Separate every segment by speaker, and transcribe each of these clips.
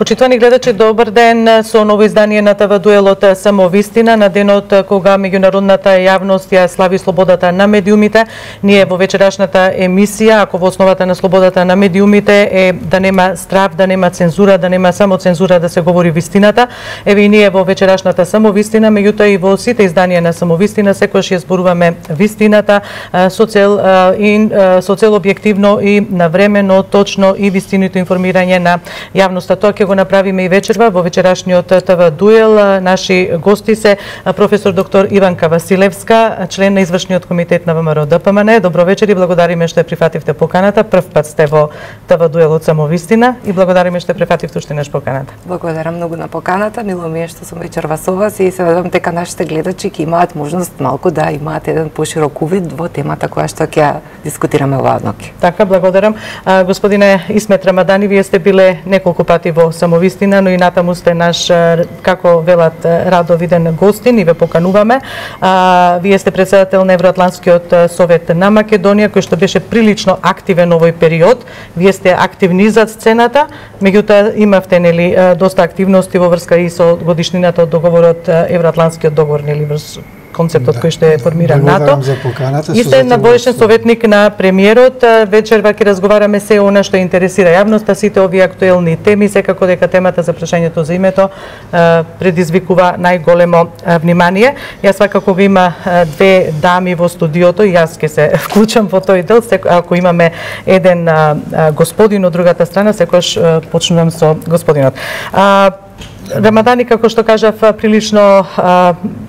Speaker 1: Почитувани гледачи, добар ден со ново издание на ТВ Дуелот Самовистина на денот кога меѓународната јавност ја слави слободата на медиумите. Ние во вечерашната емисија, ако во основата на слободата на медиумите е да нема страв, да нема цензура, да нема само цензура, да се говори вистината. Еве и ние во вечерашната Самовистина, меѓутоа и во сите изданија на Самовистина секогаш ја зборуваме вистината со цел објективно и навремено, точно и вистинито информирање на јавноста. Тоа ќе го направиме и вечерва во вечерашниот ТВ Дуел. Наши гости се професор доктор Иванка Василевска, член на извршниот комитет на ВМРО ДПМН. Добро вечер и благодариме што ја прифативте поканата. Прв пат сте во ТВ Дуел од Самовистина и благодариме што ја прифативте уште наш поканата.
Speaker 2: Благодарам многу на поканата. Мило ми е што сум вечерва со вас и се надевам дека нашите гледачи ќе имаат можност малку да имаат еден поширок увид во темата која што ќе дискутираме оваа ноќ.
Speaker 1: Така, благодарам. Господине Исмет Рамадани, вие сте биле неколку пати во Самовистина, но и натаму сте наш, како велат, радовиден гостин и ве покануваме. Вие сте председател на Евроатлантскиот совет на Македонија, кој што беше прилично активен овој период. Вие сте активни за сцената, меѓутоа имавте нели доста активности во врска и со годишнината од договорот, Евроатлантскиот договор, нели врз концептот кој што е формиран НАТО. И сте надвоешен советник на премиерот. Вечерва ќе разговараме се она што интересира јавноста, сите овие актуелни теми, секако дека темата за прашањето за името предизвикува најголемо внимание. Јас свакако го има две дами во студиото и јас ќе се вклучам во тој дел. Ако имаме еден господин од другата страна, секогаш почнувам со господинот. Рамадани, како што кажав, прилично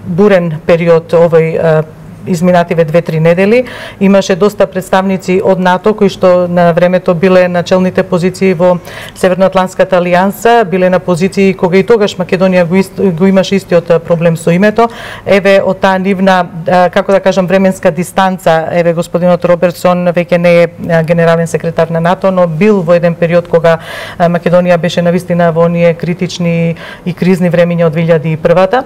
Speaker 1: бурен период овој изминативе 2-3 недели. Имаше доста представници од НАТО кои што на времето биле на челните позиции во Северноатлантската алијанса, биле на позиции кога и тогаш Македонија го имаше истиот проблем со името. Еве од таа нивна, како да кажам, временска дистанца, еве господинот Робертсон веќе не е генерален секретар на НАТО, но бил во еден период кога Македонија беше навистина во оние критични и кризни времиња од 2001-та.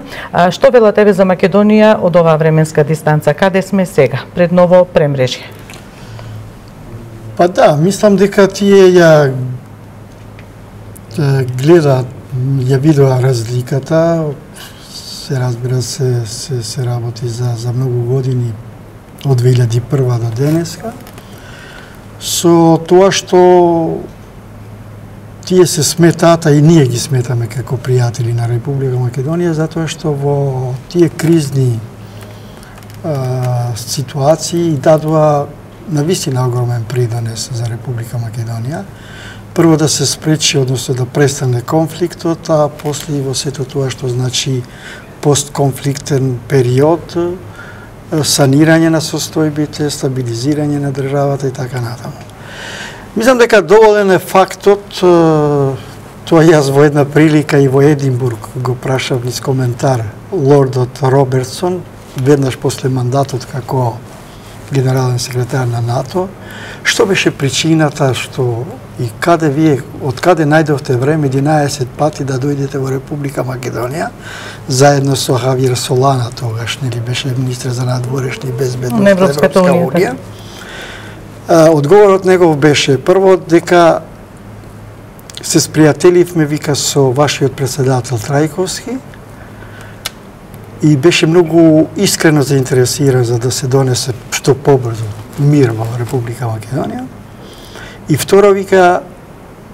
Speaker 1: Што велат еве за Македонија од оваа временска дистанца? Каде сме сега, пред ново премрежје?
Speaker 3: Па да, мислам дека тие ја гледаат, ја видува разликата. Се разбира се работи за многу години од 2001 до денеска. Со тоа што тие се сметаат, и ние ги сметаме како пријатели на Република Македонија, затоа што во тие кризни ситуации дадува навистина огромен придонес за Република Македонија. Прво да се спречи, односно да престане конфликтот, а после во сето тоа што значи постконфликтен период, санирање на состојбите, стабилизирање на државата и така натаму. Мислам дека доволен е фактот, тоа јас во една прилика и во Единбург го прашав низ коментар лордот Робертсон, веднаш после мандатот како генерален секретар на НАТО, што беше причината што и каде вие, од каде најдовте време 11 пати да дојдете во Република Македонија, заедно со Хавиер Солана, тогаш нели беше министр за надворешни безбедност на Европска унија. Одговорот негов беше прво дека се спријателивме, вика, со вашиот председател Трајковски, и беше многу искрено заинтересиран за да се донесе што побрзо мир во Република Македонија. И второ, вика,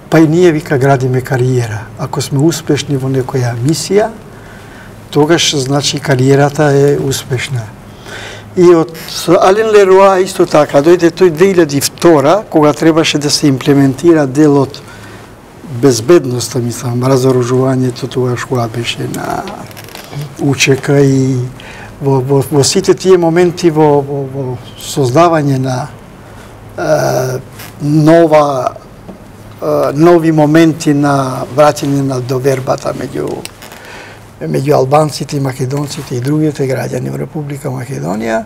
Speaker 3: па и ние, вика, градиме кариера. Ако сме успешни во некоја мисија, тогаш значи кариерата е успешна. И од Ален Леруа исто така, дојде тој 2002, кога требаше да се имплементира делот безбедноста, мислам, разоружувањето, тогаш кога беше на УЧК и во сите тие моменти во создавање на нови моменти на враќање на довербата меѓу албанците и македонците и другите граѓани во Република Македонија,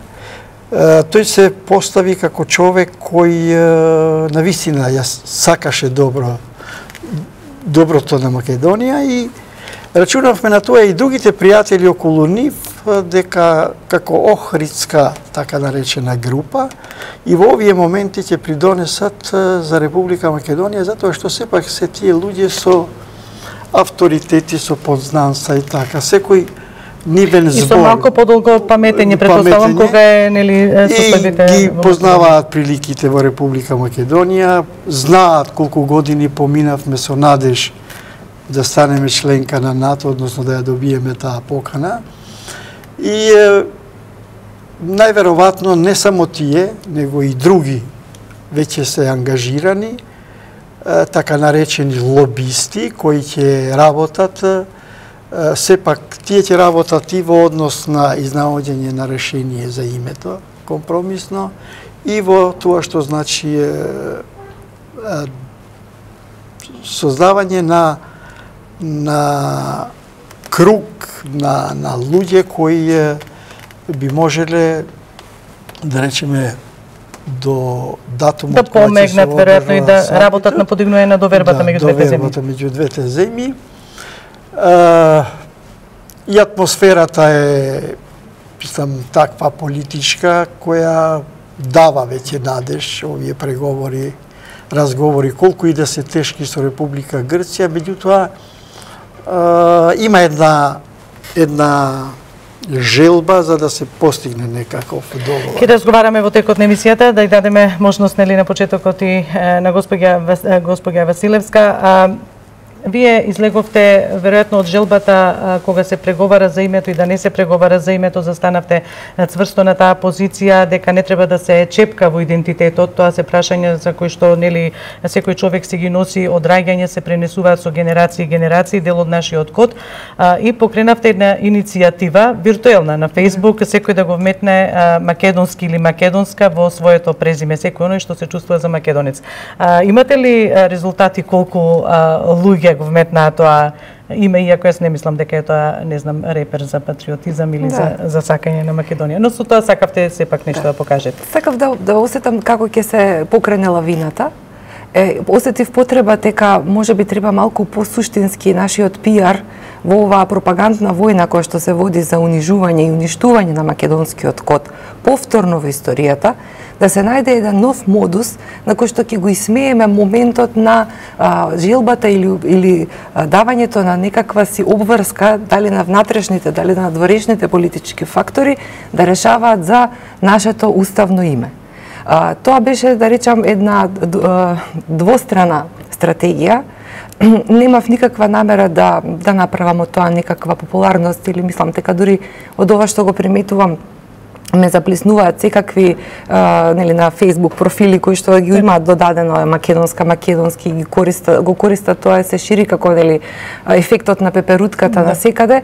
Speaker 3: тој се постави како човек кој навистина ја сакаше доброто на Македонија и рачунавме на тоа и другите пријатели околу нив, дека како Охридска, така наречена група, и во овие моменти ќе придонесат за Република Македонија, затоа што сепак се тие луѓе со авторитети со познанства и така. Секој нивен збор.
Speaker 1: И со малку подолго паметење, претпоставам, кога е нели составите.
Speaker 3: Ги познаваат приликите во Република Македонија, знаат колку години поминавме со надеж да станеме членка на НАТО, односно да ја добиеме таа покана. И најверојатно не само тие, него и други веќе се ангажирани, така наречени лобисти, кои ќе работат, сепак тие ќе работат и во однос на изнаоѓање на решение за името, компромисно, и во тоа што значи создавање на круг на луѓе кои би можеле, да речеме, до датумот
Speaker 1: да помегнат веројатно и да работат на подигнување на довербата меѓу двете земји.
Speaker 3: Довербата меѓу двете земји. И атмосферата е, мислам, таква политичка која дава веќе надеж овие преговори, разговори, колку и да се тешки со Република Грција, меѓутоа има една желба за да се постигне некаков договор.
Speaker 1: Ќе разговараме во текот на емисијата, да ја дадеме можност нели на почетокот и на госпоѓа Василевска. Вие излеговте веројатно од желбата кога се преговара за името и да не се преговара за името, застанавте цврсто на таа позиција дека не треба да се чепка во идентитетот. Тоа се прашања за кои што нели секој човек си ги носи, од раѓање се пренесуваат со генерации и генерации, дел од нашиот код. И покренавте една иницијатива виртуелна на Facebook, секој да го вметне македонски или македонска во своето презиме, секој оној што се чувствува за македонец. Имате ли резултати колку луѓе го вметнаа тоа име, иако јас не мислам дека е тоа, не знам, репер за патриотизам или за сакање на Македонија. Но со тоа сакавте сепак нешто да покажете.
Speaker 2: Сакав да осетам како ќе се покрене лавината. Осетив потреба дека можеби треба малку посуштински нашиот пиар во оваа пропагандна војна која што се води за унижување и уништување на македонскиот код повторно во историјата, да се најде еден нов модус на кој што ќе го исмееме моментот на желбата или давањето на некаква си обврска, дали на внатрешните, дали на надворешните политички фактори, да решаваат за нашето уставно име. Тоа беше, да речам, една двострана стратегија. Немав никаква намера да направам од тоа некаква популарност или мислам дека дури од ова што го приметувам ме заплеснуваат секакви нели на Facebook профили кои што ги имаат додадено македонски го користат тоа, се шири како нели ефектот на пеперутката на секаде.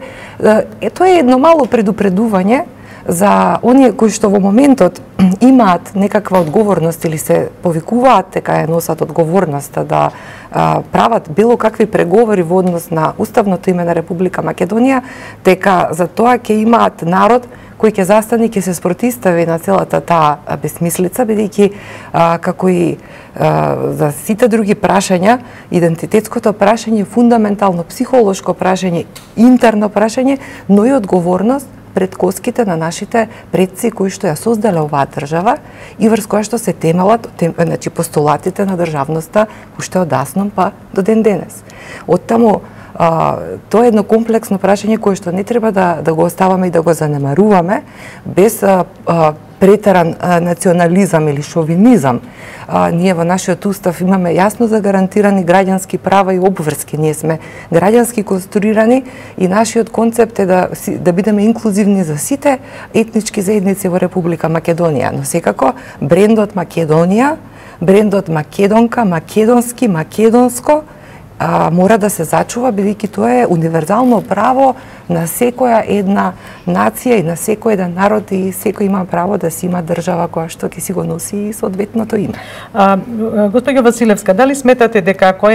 Speaker 2: Тоа е едно мало предупредување за оние кои што во моментот имаат некаква одговорност или се повикуваат дека ја носат одговорноста да прават било какви преговори во однос на уставното име на Република Македонија, дека за тоа ќе имаат народ кој ќе застане, ќе се спротистави на целата таа безсмислица, бидејќи како и за сите други прашања, идентитетското прашање е фундаментално психолошко прашање, интерно прашање, но и одговорност пред коските на нашите предци кои што ја создале оваа држава и врз која што се темелат, значи постулатите на државноста уште од дасном па до ден денес. Оттаму тоа е едно комплексно прашање кое што не треба да го оставаме и да го занемаруваме без претеран национализам или шовинизам. Ние во нашиот устав имаме јасно загарантирани граѓански права и обврски. Ние сме граѓански конструирани и нашиот концепт е да бидеме инклузивни за сите етнички заедници во Република Македонија. Но секако брендот Македонија, брендот македонка, македонски, македонско мора да се зачува, бидејќи тоа е универзално право на секоја една нација и на секој еден народ и секој има право да си има држава која што ќе си го носи и соодветното име.
Speaker 1: Госпоѓа Василевска, дали сметате дека ако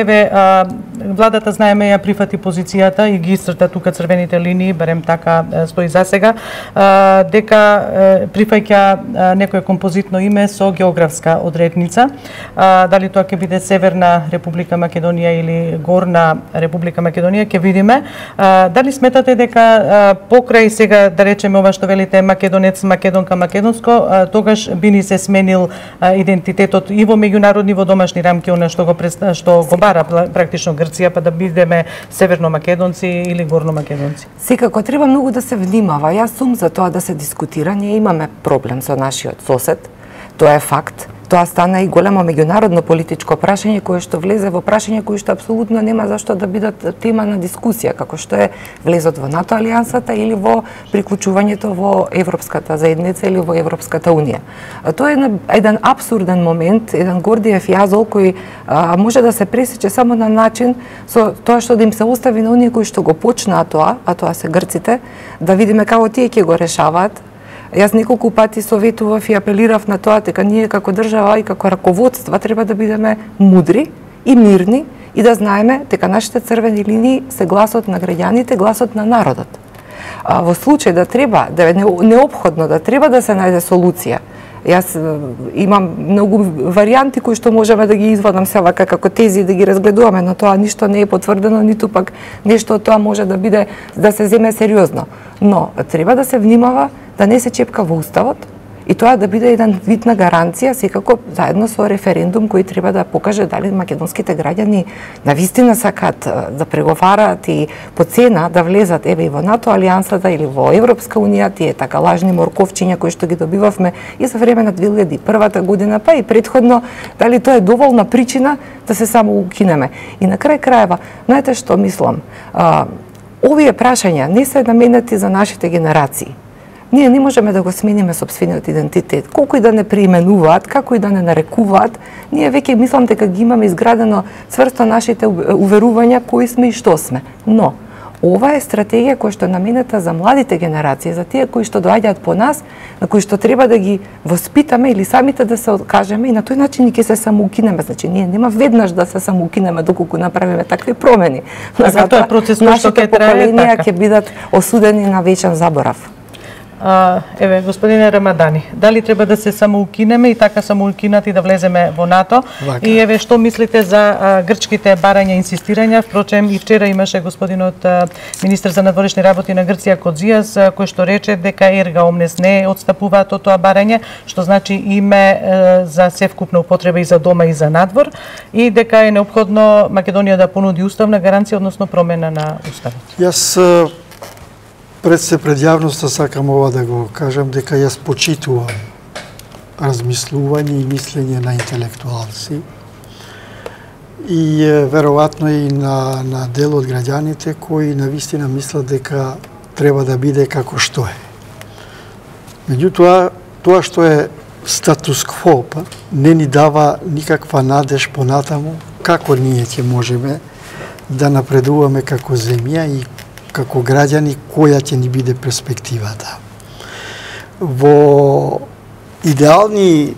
Speaker 1: владата знаеме ја прифати позицијата и ги исцрта тука црвените линии, барем така стои за сега, дека прифаќа некое композитно име со географска одредница, дали тоа ќе биде Северна Република Македонија или или Горна Република Македонија, ќе видиме. Дали сметате дека покрај сега, да речеме, ова што велите македонец, македонка, македонско, тогаш би ни се сменил идентитетот и во меѓународни, во домашни рамки, она што го бара практично Грција, па да бидеме северно македонци или горно македонци?
Speaker 2: Секако треба многу да се внимава. Јас сум за тоа да се дискутира. Ние имаме проблем со нашиот сосед. Тоа е факт. Тоа стана и големо меѓународно политичко прашање кое што влезе во прашање кои што апсолутно нема зашто да бидат тема на дискусија, како што е влезот во НАТО алијансата или во приклучувањето во Европската заедница или во Европската унија. Тоа е еден апсурден момент, еден Гордиев јазол кој може да се пресече само на начин со тоа што да им се остави на оние кои што го почнаа тоа, а тоа се грците, да видиме како тие ќе го решаваат. Јас неколку пати советував и апелирав на тоа дека ние како држава и како раководства треба да бидеме мудри и мирни и да знаеме дека нашите црвени линии се гласот на граѓаните, гласот на народот. Во случај да треба, да е неопходно, да треба да се најде солуција, јас имам многу варијанти кои што можеме да ги извадам се вака како тези да ги разгледуваме, но тоа ништо не е потврдено, ниту пак нешто од тоа може да биде да се земе сериозно. Но треба да се внимава да не се чепка во уставот и тоа да биде еден вид на гаранција, секако заедно со референдум кој треба да покаже дали македонските граѓани навистина сакаат да преговараат и по цена да влезат еве и во НАТО алијансата или во Европска унија, тие така лажни морковчиња кои што ги добивавме и за време на 2001 година, па и претходно, дали тоа е доволна причина да се само укинеме. И на крај крајава, знаете што мислам? Овие прашања не се наменети за нашите генерации. Ние не можеме да го смениме сопствениот идентитет. Колку и да не преименуваат, како и да не нарекуваат, ние веќе мислам дека ги имаме изградено цврсто нашите уверувања кои сме и што сме. Но, ова е стратегија која што е наменета за младите генерации, за тие кои што доаѓаат по нас, на кои што треба да ги воспитаме или самите да се откажеме и на тој начин ќе се самоукинеме. Значи, ние нема веднаш да се самоукинеме доколку направиме такви промени.
Speaker 1: Така, тоа е процес кој што ќе трае,
Speaker 2: поколенија ќе бидат осудени на вечен заборав.
Speaker 1: Еве, господине Рамадани, дали треба да се самоукинеме и така самоукинати да влеземе во НАТО? И еве, што мислите за грчките барања, инсистирања? Впрочем, и вчера имаше господинот министер за надворешни работи на Грција Кодзијас, кој што рече дека ерга омнес не отстапуваат од тоа барање, што значи име за севкупна употреба и за дома и за надвор, и дека е неопходно Македонија да понуди уставна гаранција, односно промена на уставот.
Speaker 3: Јас пред јавноста сакам ова да го кажам, дека јас почитувам размислување и мислење на интелектуалци и веројатно и на дел од граѓаните кои навистина мислат дека треба да биде како што е. Меѓутоа, тоа што е статус кво не ни дава никаква надеж понатаму како ние ќе можеме да напредуваме како земја и како граѓани, која ќе ни биде перспективата. Во идеални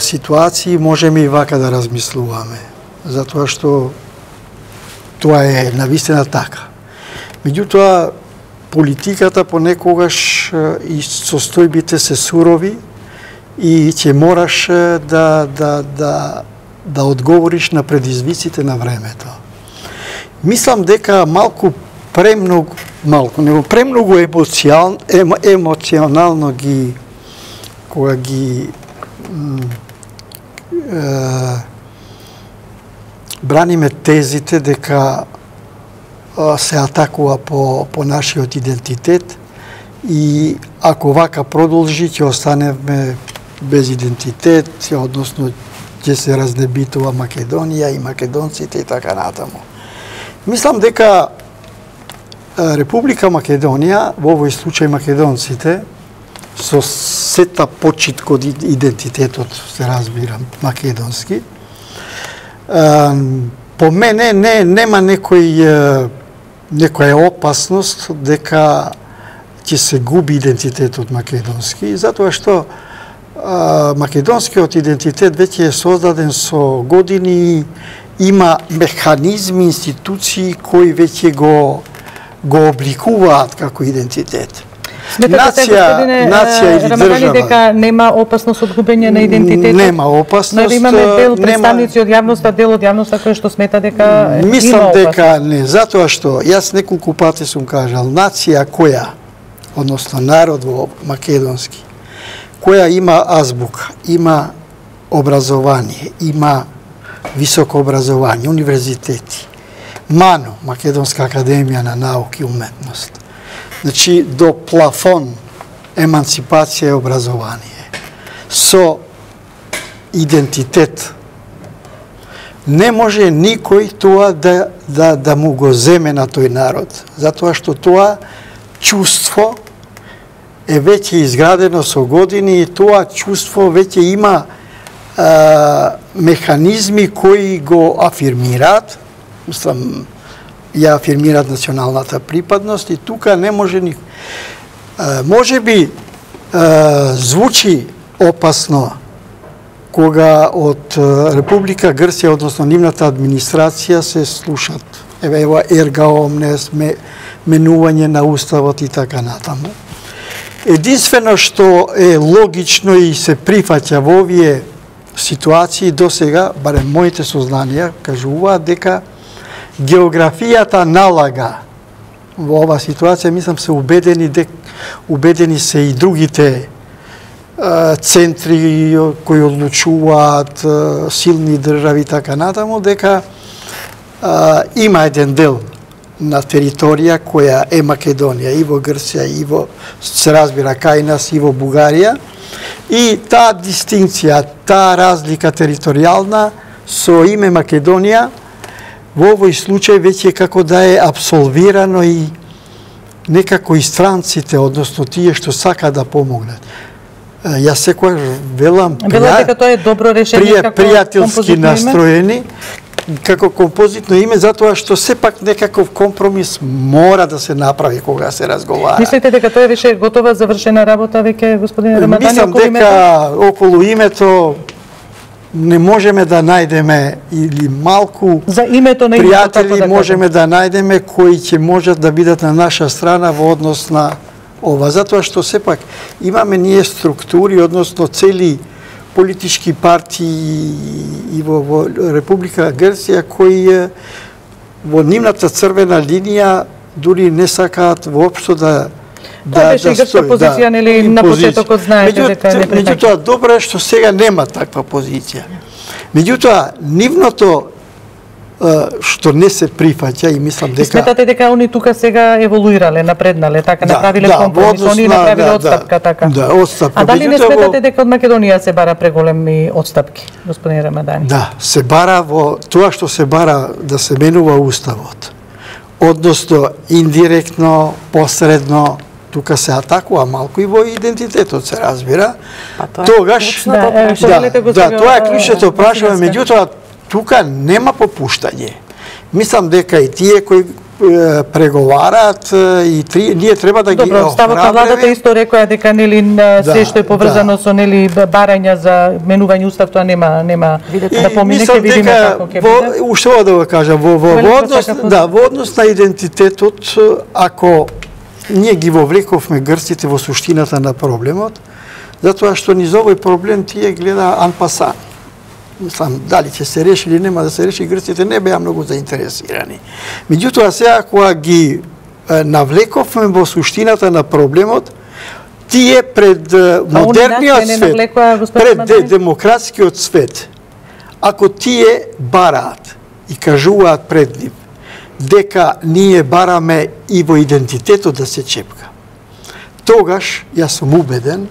Speaker 3: ситуации можеме и вака да размислуваме, затоа што тоа е навистина така. Меѓутоа, политиката понекогаш и состојбите се сурови и ќе мораш да одговориш на предизвиците на времето. Мислам дека премногу емоционално ги кога ги браниме тезите дека се атакува по нашиот идентитет и ако вака продолжи ќе останеме без идентитет, односно ќе се разнебитува Македонија и македонците и така натаму. Мислам дека Република Македонија, во овој случај македонците, со сета почит код идентитетот, се разбира, македонски, по мене нема некоја опасност дека ќе се губи идентитетот македонски, затоа што македонскиот идентитет веќе е создаден со години, има механизми, институции кои веќе го обликуваат како идентитет.
Speaker 1: Сметате,
Speaker 3: нација или
Speaker 1: Рамадани, дека
Speaker 3: држава
Speaker 1: нема опасност од губење на идентитет?
Speaker 3: нема опасност.
Speaker 1: Но имаме дел представници од јавноста, дел од јавноста кој што смета дека
Speaker 3: мислам
Speaker 1: има опасност.
Speaker 3: дека не, затоа што јас неколку пати сум кажал, нација која, односно народ во македонски, која има азбука, има образование, има високо образование, универзитети, МАНО, Македонска академија на науки и уметност. Значи, до плафон емансипација и образование. Со идентитет. Не може никој тоа да му го земе на тој народ. Затоа што тоа чувство е веќе изградено со години и тоа чувство веќе има механизми кои го афирмираат, мислам, ја афирмираат националната припадност и тука не може ни... Може би звучи опасно кога од Република Грција, односно нивната администрација, се слушат ева ерга омнес, менување на уставот и така натаму. Единствено што е логично и се прифаќа во овие ситуации до сега, барем моите сознанија, кажуваат дека географијата налага во оваа ситуација, мислам се убедени се и другите центри кои одлучуваат, силни држави и така натаму, дека има еден дел на територија која е Македонија, и во Грција, и во, се разбира, кај нас, и во Бугарија, и таа дистинција, таа разлика територијална со име Македонија, во овој случај веќе како да е абсолвирано и некако и странците, односно тие што сака да помогнат. Јас секогаш велам
Speaker 1: дека тоа е добро решение како
Speaker 3: пријателски настроени, како композитно име, затоа што сепак некаков компромис мора да се направи кога се разговара.
Speaker 1: Мислите дека тоа е више готова завршена работа веќе, господине Рамадани,
Speaker 3: мислам дека околу името не можеме да најдеме или малку
Speaker 1: за името на
Speaker 3: пријатели можеме да најдеме кои ќе можат да бидат на наша страна во однос на ова, затоа што сепак имаме ние структури, односно цели политички партии и во Република Грција кои во нивната црвена линија дури не сакаат воопшто да
Speaker 1: беше и грчка позиција, нели, на почетокот знаете дека не прифаќа.
Speaker 3: Меѓутоа, добро е што сега нема таква позиција. Меѓутоа, нивното што не се прифаќа и мислам дека...
Speaker 1: Сметате дека они тука сега еволуирале, напреднале, така, направиле компромис, они направиле отстапка, така?
Speaker 3: Да, отстапка.
Speaker 1: А дали не сметате дека од Македонија се бара преголеми отстапки, господин Рамадани?
Speaker 3: Да, се бара во тоа што се бара да се менува уставот. Односно, индиректно, посредно, тука се атакува малку и во идентитетот, се разбира. Тогаш, тоа е клучното прашање, меѓутоа, тука нема попуштање. Мислам дека и тие кои преговараат и ние треба да ги охрабриме.
Speaker 1: Добро, ставот на владата исто рекоа дека нели се што е поврзано со нели барања за менување устав, тоа нема да помине, ќе видиме како ќе биде.
Speaker 3: Уште да го кажам, во однос на идентитетот, ако ние ги вовлековме грците во суштината на проблемот, затоа што низ овој проблем тие гледа анпасан. Мислам, дали ќе се реши или нема да се реши, грците не беа многу заинтересирани. Меѓутоа, сега кога ги навлековме во суштината на проблемот, тие пред модерниот свет, пред демократскиот свет, ако тие бараат и кажуваат пред нив дека ние бараме и во идентитетот да се чепка, тогаш, јас сум убеден,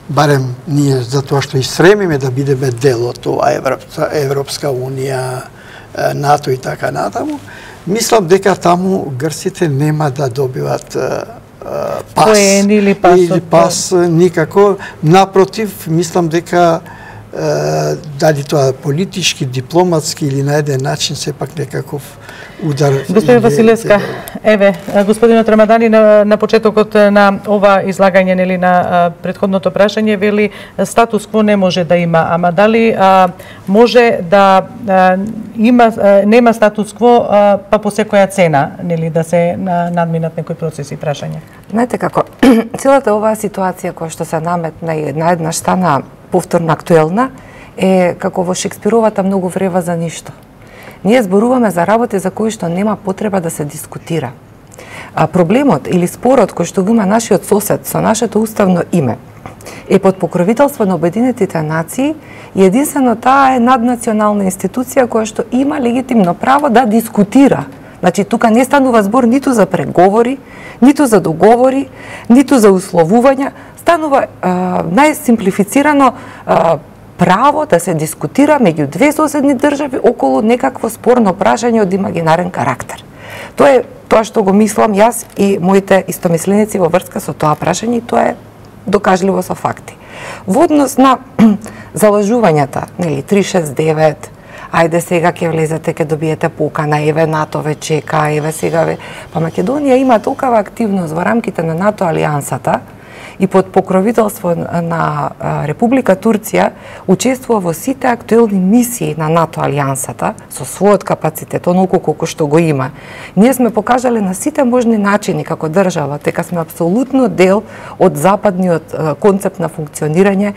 Speaker 3: барем ние затоа што и стремиме да бидеме дел од тоа Европска Унија, НАТО и така натаму, мислам дека таму грците нема да добиват пас
Speaker 1: или
Speaker 3: пас никако. Напротив, мислам дека дали тоа политички, дипломатски или на еден начин сепак некаков удар.
Speaker 1: Господин Василевска, Еве, господинот Рамадани на почетокот на ова излагање, нели, на претходното прашање вели статус кво не може да има, ама дали може да нема статус кво па по секоја цена, нели, да се надминат некои процеси, прашање?
Speaker 2: Знаете како, целата оваа ситуација која што се наметна и еднаш стана повторно актуелна е како во Шекспировата многу врева за ништо. Ние зборуваме за работи за кои што нема потреба да се дискутира. Проблемот или спорот кој што го има нашиот сосед со нашето уставно име е под покровителство на Обединетите нации и единствено таа е наднационална институција која што има легитимно право да дискутира. Значи, тука не станува збор ниту за преговори, ниту за договори, ниту за условувања, станува најсимплифицирано право да се дискутира меѓу две соседни држави околу некакво спорно прашање од имагинарен карактер. Тоа е тоа што го мислам јас и моите истомисленици во врска со тоа прашање и тоа е докажливо со факти. Во однос на залажувањата, нели 369, ајде сега ќе влезете, ќе добиете покана, еве НАТО ве чека, еве сега ве. Па Македонија има толкова активност во рамките на НАТО алијансата и под покровителство на Република Турција учествува во сите актуелни мисии на НАТО алијансата со својот капацитет, онолку колку што го има. Ние сме покажале на сите можни начини како држава дека сме апсолутно дел од западниот концепт на функционирање.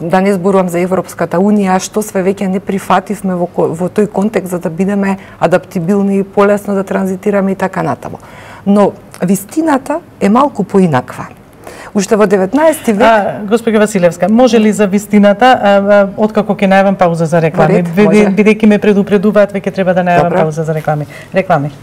Speaker 2: Да не зборувам за Европската унија, што све веќе не прифативме во тој контекст за да бидеме адаптибилни и полесно да транзитираме и така натаму. Но вистината е малку поинаква. Уште во 19 век...
Speaker 1: Госпоѓа Василевска, може ли за вистината, откако ќе најавам пауза за реклами? Бидејќи ме предупредуваат, веќе треба да најавам пауза за реклами. Реклами.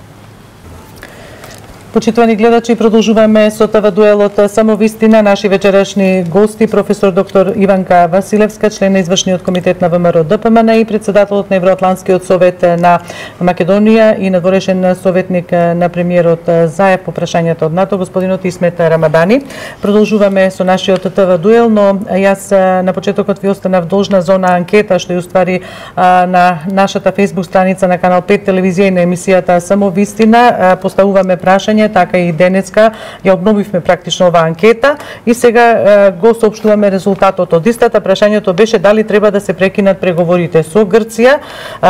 Speaker 1: Почитувани гледачи, продолжуваме со ТВ дуелот Само вистина. Наши вечерашни гости, професор доктор Иванка Василевска, член на извршниот комитет на ВМРО ДПМН и председателот на Евроатлантскиот совет на Македонија и надворешен советник на премиерот Заев по прашањето од НАТО, господинот Исмет Рамадани. Продолжуваме со нашиот ТВ дуел, но јас на почетокот ви останав должна за она анкета што ја уствари на нашата фејсбук страница на канал 5 телевизија и на емисијата Само вистина. Поставуваме прашање, така и денеска ја обновивме практично оваа анкета и сега го соопштуваме резултатот од истата. Прашањето беше дали треба да се прекинат преговорите со Грција.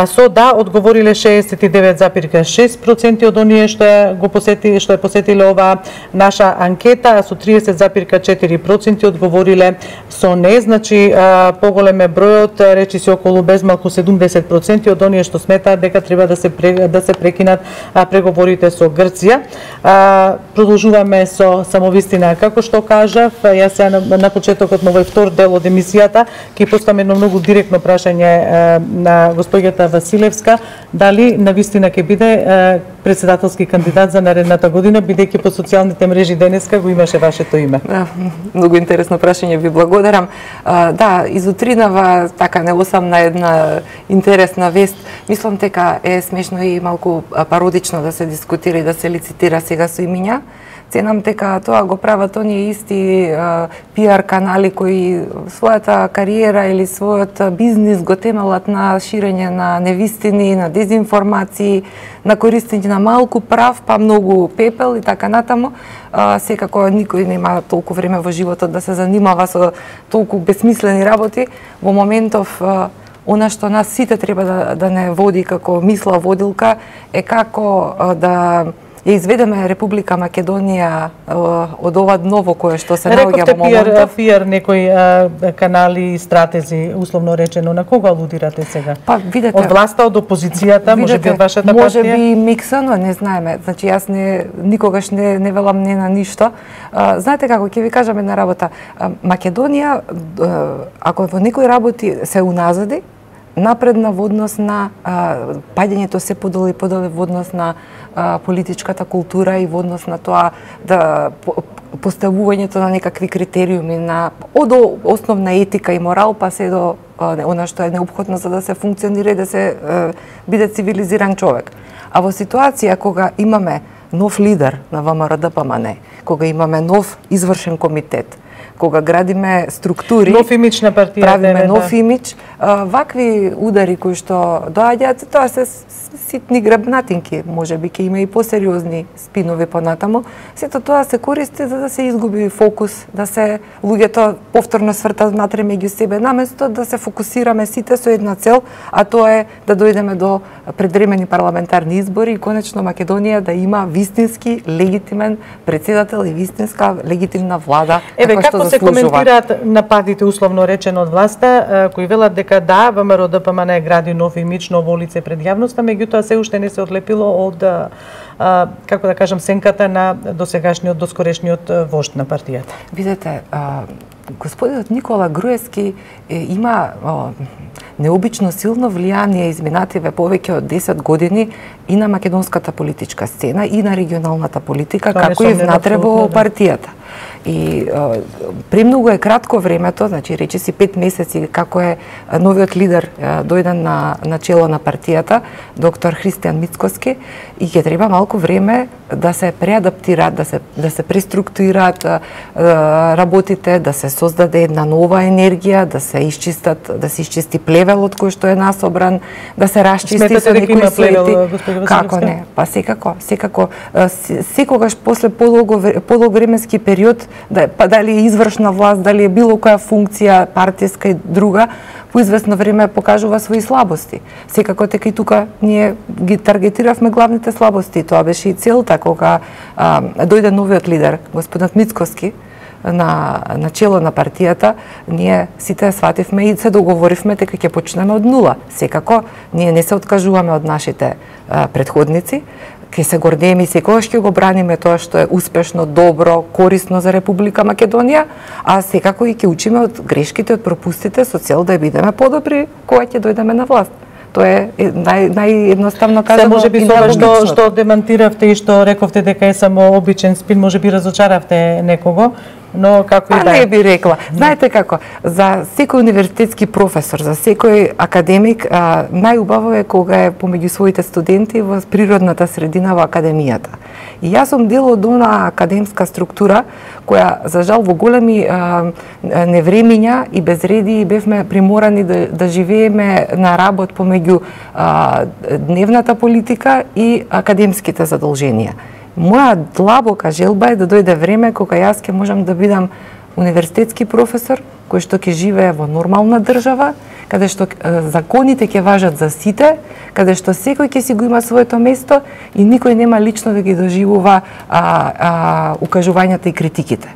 Speaker 1: Со да одговориле 69,6% од оние што ја посетиле оваа наша анкета, а со 30,4% одговориле со не. Значи поголем е бројот, речиси околу безмалку 70% од оние што сметаат дека треба да се прекинат преговорите со Грција. Продолжуваме со самовистина. Како што кажав, јас на почетокот на овој втор дел од емисијата ќе поставам едно многу директно прашање на госпоѓата Василевска, дали навистина ќе биде председателски кандидат за наредната година, бидејќи по социјалните мрежи денеска го имаше вашето име.
Speaker 2: Многу интересно прашање, ви благодарам. Да, изутринава така не осамна една интересна вест. Мислам дека е смешно и малку пародично да се дискутира и да се лицитира сега со имиња. Ценам дека тоа го прават оние исти пиар канали кои својата кариера или својот бизнис го темелат на ширење на невистини, на дезинформации, на користење на малку прав, па многу пепел и така натаму. Секако никој нема толку време во животот да се занимава со толку бесмислени работи. Во моментов она што нас сите треба да не води како мисла водилка е како да ја изведеме Република Македонија од ова дно кое што се наоѓа во моментов.
Speaker 1: Рековте пиар некои канали и стратези, условно речено, на кого алудирате сега?
Speaker 2: Па видете,
Speaker 1: од власта, од опозицијата, можеби од вашата партија?
Speaker 2: Можеби миксано, не знаеме. Значи јас никогаш не велам не на ништо. Знаете како, ќе ви кажам една работа. Македонија, ако во некои работи се уназади, напредна во однос на паѓањето се подолу и подолу во однос на политичката култура и во однос на тоа да поставувањето на некакви критериуми од основна етика и морал па се до она што е неопходно за да се функционира и да се биде цивилизиран човек. А во ситуација кога имаме нов лидер на ВМРО ДПМН, кога имаме нов извршен комитет, кога градиме структури,
Speaker 1: нов имидж на партијата,
Speaker 2: правиме нов имидж, вакви удари кои што доаѓаат, тоа се ситни грабнатинки, можеби ќе има и посериозни спинови понатаму. Сето тоа се користи за да се изгуби фокус, да се луѓето повторно свртат внатре меѓу себе, наместо да се фокусираме сите со една цел, а тоа е да дојдеме до предвремени парламентарни избори и конечно Македонија да има вистински легитимен претседател и вистинска легитимна влада,
Speaker 1: како се коментираат нападите условно речено од власта, кои велат дека да, ВМРО ДПМН гради нов имидж, ново лице пред јавноста, меѓутоа се уште не се одлепило од како да кажам сенката на досегашниот, доскорешниот вожд на партијата.
Speaker 2: Видете, господинот Никола Груевски има необично силно влијание изминативе повеќе од 10 години и на македонската политичка сцена и на регионалната политика, како и внатре во партијата. И премногу е кратко времето, значи речиси 5 месеци како е новиот лидер дојден на чело на партијата, доктор Христијан Мицкоски, и ќе треба малку време да се преадаптираат, да се преструктурираат работите, да се создаде една нова енергија, да се изчисти плевелот кој што е насобран, да се расчисти со некои свети. Како не? Па секако. Секогаш после подолго временски период, дали е извршна власт, дали е било која функција партиска и друга, по известно време покажува своји слабости. Секако дека и тука ние ги таргетиравме главните слабости. Тоа беше и целта кога дојде новиот лидер, господинот Мицкоски, на чело на партијата, ние сите свативме и се договоривме дека ќе почнеме од нула. Секако, ние не се откажуваме од нашите предходници, ќе се гордееме и секогаш ќе го браниме тоа што е успешно, добро, корисно за Република Македонија, а секако и ќе учиме од грешките, од пропустите со цел да бидеме подобри кога ќе дојдеме на власт. Тоа е наједноставно казано.
Speaker 1: Може би тоа што демантиравте и што рековте дека е само обичен спин, може би разочаравте некого, но како и да.
Speaker 2: Не би рекла. Знаете како, за секој универзитетски професор, за секој академик, најубаво е кога е помеѓу своите студенти во природната средина во академијата. И јас сум дел од она академска структура која, за жал, во големи невремиња и безреди бевме приморани да живееме на работ помеѓу дневната политика и академските задолженија. Моја длабока желба е да дојде време кога јас ќе можам да бидам универзитетски професор кој што ќе живее во нормална држава, каде што законите ќе важат за сите, каде што секој ќе си го има своето место и никој нема лично да ги доживува укажувањата и критиките.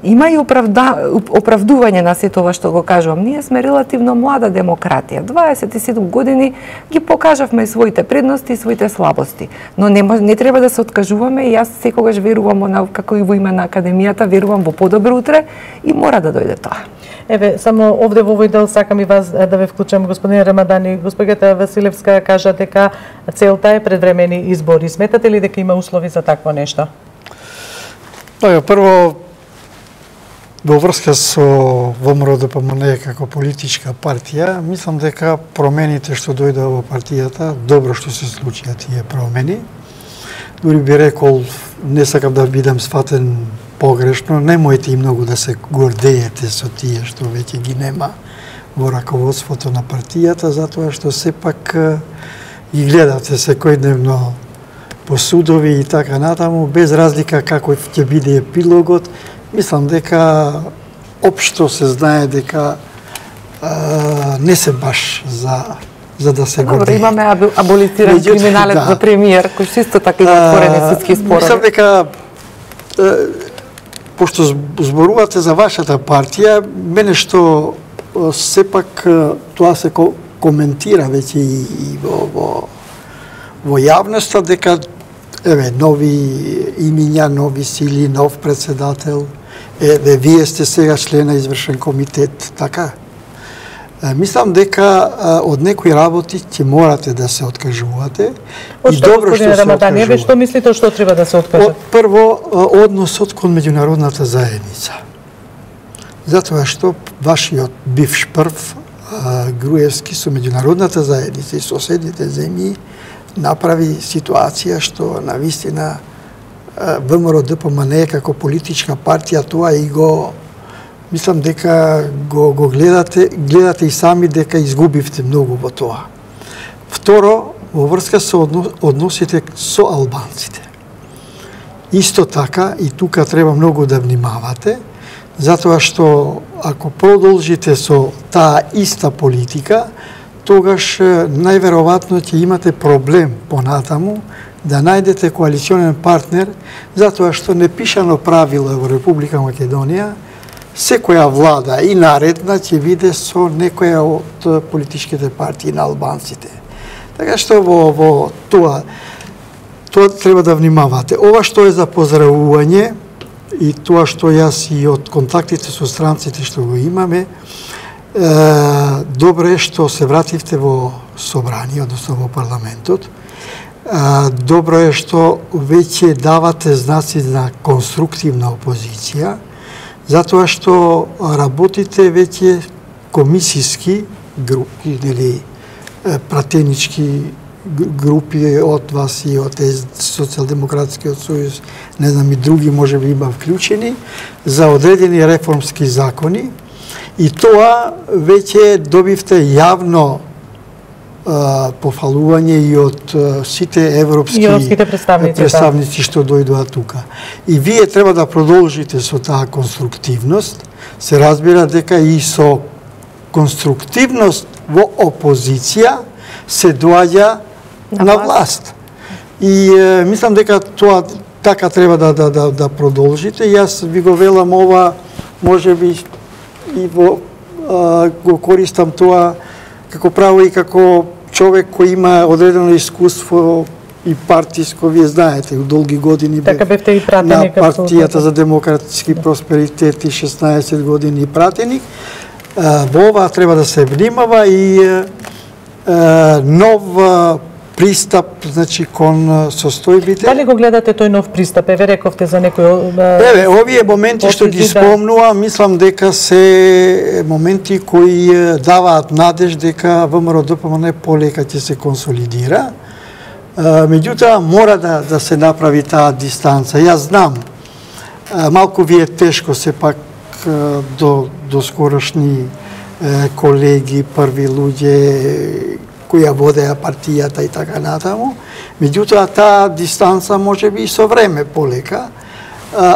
Speaker 2: Има и оправдување на сето ова што го кажувам. Ние сме релативно млада демократија. 27 години ги покажавме своите предности и своите слабости. Но не треба да се откажуваме и јас секогаш верувам, како и во име на академијата, верувам во подобро утре и мора да дојде тоа.
Speaker 1: Еве, само овде во овој дел сакам и вас да ве вклучам, господин Рамадани. Госпоѓата Василевска кажа дека целта е предвремени избори. Сметате ли дека има услови за такво нешто?
Speaker 3: Прво, во врска со ВМРО ДПМН како политичка партија, мислам дека промените што дојдоа во партијата, добро што се случија тие промени. Дури би рекол, не сакам да бидам сватен погрешно, немојте и многу да се гордеете со тие што веќе ги нема во раководството на партијата, затоа што сепак ги гледате секојдневно по судови и така натаму, без разлика како ќе биде епилогот. Мислам дека општо се знае дека не се баш за да се гордее.
Speaker 2: Добро, имаме аболициран криминалец за премиер, кој исто така има отворени судски спорови.
Speaker 3: Мислам дека пошто зборувате за вашата партија, мене што сепак тоа се коментира веќе и во јавноста дека нови имиња, нови сили, нов председател, вие сте сега член на извршен комитет, така? Мислам дека од некои работи ќе морате да се откажувате.
Speaker 1: И добро што се откажувате. Што мислите што треба да се откажат?
Speaker 3: Прво, односот кон меѓународната заедница. Затоа што вашиот бивш прв, Груевски, со меѓународната заедница и соседните земји направи ситуација што навистина ВМРО ДПМН како политичка партија тоа и го мислам дека го гледате и сами дека изгубивте многу во тоа. Второ, во врска со односите со албанците. Исто така, и тука треба многу да внимавате, затоа што ако продолжите со таа иста политика, тогаш најверојатно ќе имате проблем понатаму да најдете коалиционен партнер, затоа што непишано правило во Република Македонија, секоја влада и наредна ќе биде со некоја од политичките партии на албанците. Така што во тоа треба да внимавате. Ова што е за поздравување и тоа што јас и од контактите со странците што го имаме, добро е што се вративте во собрание, односно во парламентот. Добро е што веќе давате знаци на конструктивна опозиција, затоа што работите веќе комисиски групи, или пратенички групи од вас и од Социјалдемократскиот сојуз, не знам и други може би има вклучени, за одредени реформски закони, и тоа веќе добивте јавно пофалување и од сите европски представници што дојдоа тука. И вие треба да продолжите со таа конструктивност. Се разбира дека и со конструктивност во опозиција се доаѓа на власт. И мислам дека тоа така треба да продолжите. Јас ви го велам ова, можеби и го користам тоа како право и како човек кој има одредено искуство и партиско, вие знаете, долги години
Speaker 1: така бевте и пратеник
Speaker 3: на партијата за демократски просперитет и 16 години пратеник. Во ова треба да се внимава и нов пристап, значи, кон состојбите.
Speaker 1: Дали го гледате тој нов пристап? Еве рековте за некој...
Speaker 3: Еве, овие моменти што ги спомнувам, мислам дека се моменти кои даваат надеж дека ВМРО-ДПМН полека ќе се консолидира. Меѓутоа, мора да се направи таа дистанца. Јас знам, малку ви е тешко сепак до скорошни колеги, први луѓе кои ја водеа партијата и така натаму. Меѓутоа, таа дистанца може би и со време полека.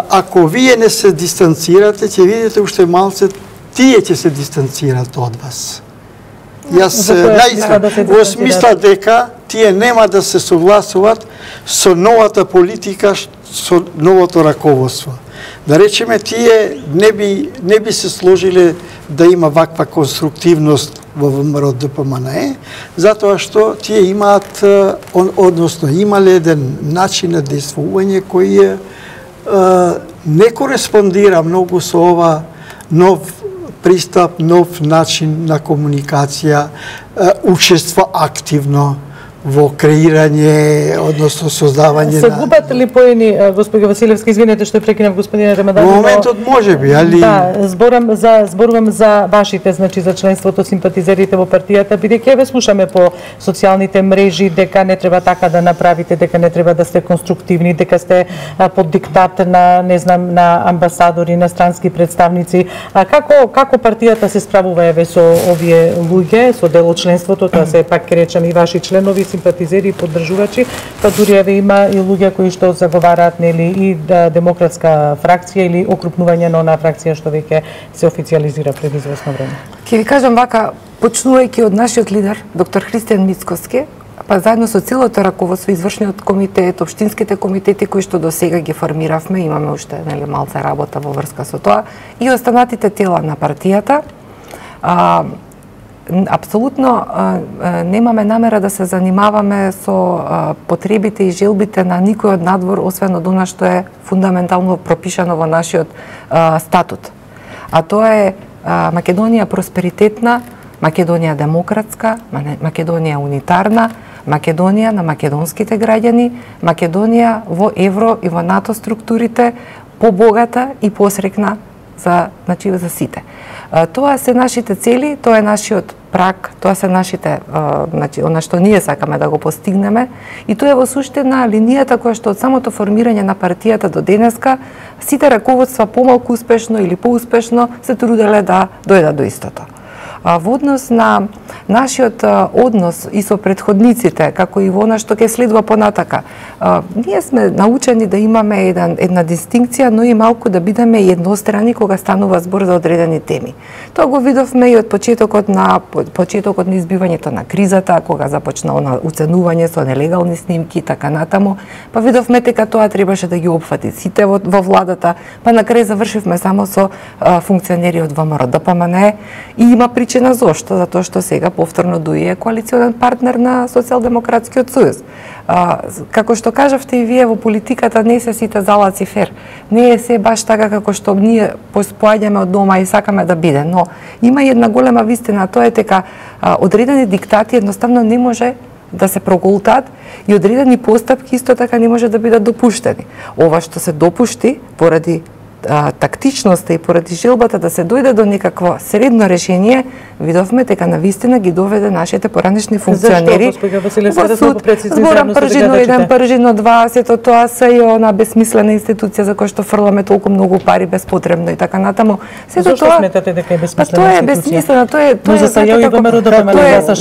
Speaker 3: Ако вие не се дистанцирате, ќе видите уште малце, тие ќе се дистанцират од вас. Јас во смисла дека тие нема да се согласуваат со новата политика, со новото раководство. Да речеме, тие не би се сложиле да има ваква конструктивност во ВМРО-ДПМН, затоа што тие имаат, односно имале еден начин на действување кој не кореспондира многу со ова нов пристап, нов начин на комуникација, учество активно во креирање, односно создавање
Speaker 1: се губат ли поени, господи Василевски, извинете што прекинав господине Рамадан.
Speaker 3: Во моментот можеби, али
Speaker 1: да, зборувам за вашите, значи за членството, симпатизерите во партијата, бидејќи еве слушаме по социјалните мрежи дека не треба така да направите, дека не треба да сте конструктивни, дека сте под диктат на, не знам, на амбасадори, на странски представници. Како партијата се справува еве со овие луѓе, со дел од членството, тоа се пак ќе речеме и ваши членови, симпатизери и поддржувачи, па дури еве има и луѓе кои што заговараат, нели, и демократска фракција или окрупнување на онаа фракција што веќе се официјализира пред известно време.
Speaker 2: Ќе ви кажам вака, почнувајќи од нашиот лидер, доктор Христијан Мицкоски, па заедно со целото раководство, извршниот комитет, општинските комитети кои што досега ги формиравме, имаме уште, нели, малце работа во врска со тоа, и останатите тела на партијата, апсолутно немаме намера да се занимаваме со потребите и желбите на никој од надвор, освен од она што е фундаментално пропишано во нашиот статут. А тоа е Македонија просперитетна, Македонија демократска, Македонија унитарна, Македонија на македонските граѓани, Македонија во евро и во НАТО структурите, побогата и посрекна за сите. Тоа се нашите цели, тоа е нашиот праг, тоа се нашите, она што ние сакаме да го постигнеме, и тоа е во суштина линијата која што од самото формирање на партијата до денеска сите раководства помалку успешно или поуспешно се труделе да дојдат до истото. Во однос на нашиот однос и со претходниците, како и во она што ќе следува понатака, ние сме научени да имаме една дистинкција, но и малку да бидеме еднострани кога станува збор за одредени теми. Тоа го видовме и од почетокот на избивањето на кризата, кога започна она уценување со нелегални снимки и така натаму, па видовме дека тоа требаше да ги опфати сите во владата, па на крај завршивме само со функционери од ВМРО ДПМН, и има причина зошто, затоа што сега повторно ДУИ е коалиционен партнер на Социјалдемократскиот сојуз. Како што кажавте и вие, во политиката не се сите залаци фер. Не е се баш така како што ние поаѓаме од дома и сакаме да биде, но има една голема вистина, тоа е дека одредени диктати едноставно не може да се проголтат и одредени постапки исто така не може да бидат допуштени. Ова што се допушти поради тактичноста и поради желбата да се дојде до некакво средно решение, видовме дека навистина ги доведе нашите поранешни функционери во суд. Зборам пржино 1, пржино 2, сето тоа се и она бесмислена институција за која што фрламе толку многу пари беспотребно и така натаму. Сето тоа
Speaker 1: сметате дека е бесмислена
Speaker 2: институција? Тоа е бесмислена, тоа е
Speaker 1: за сега и ВМРО ДПМН
Speaker 3: да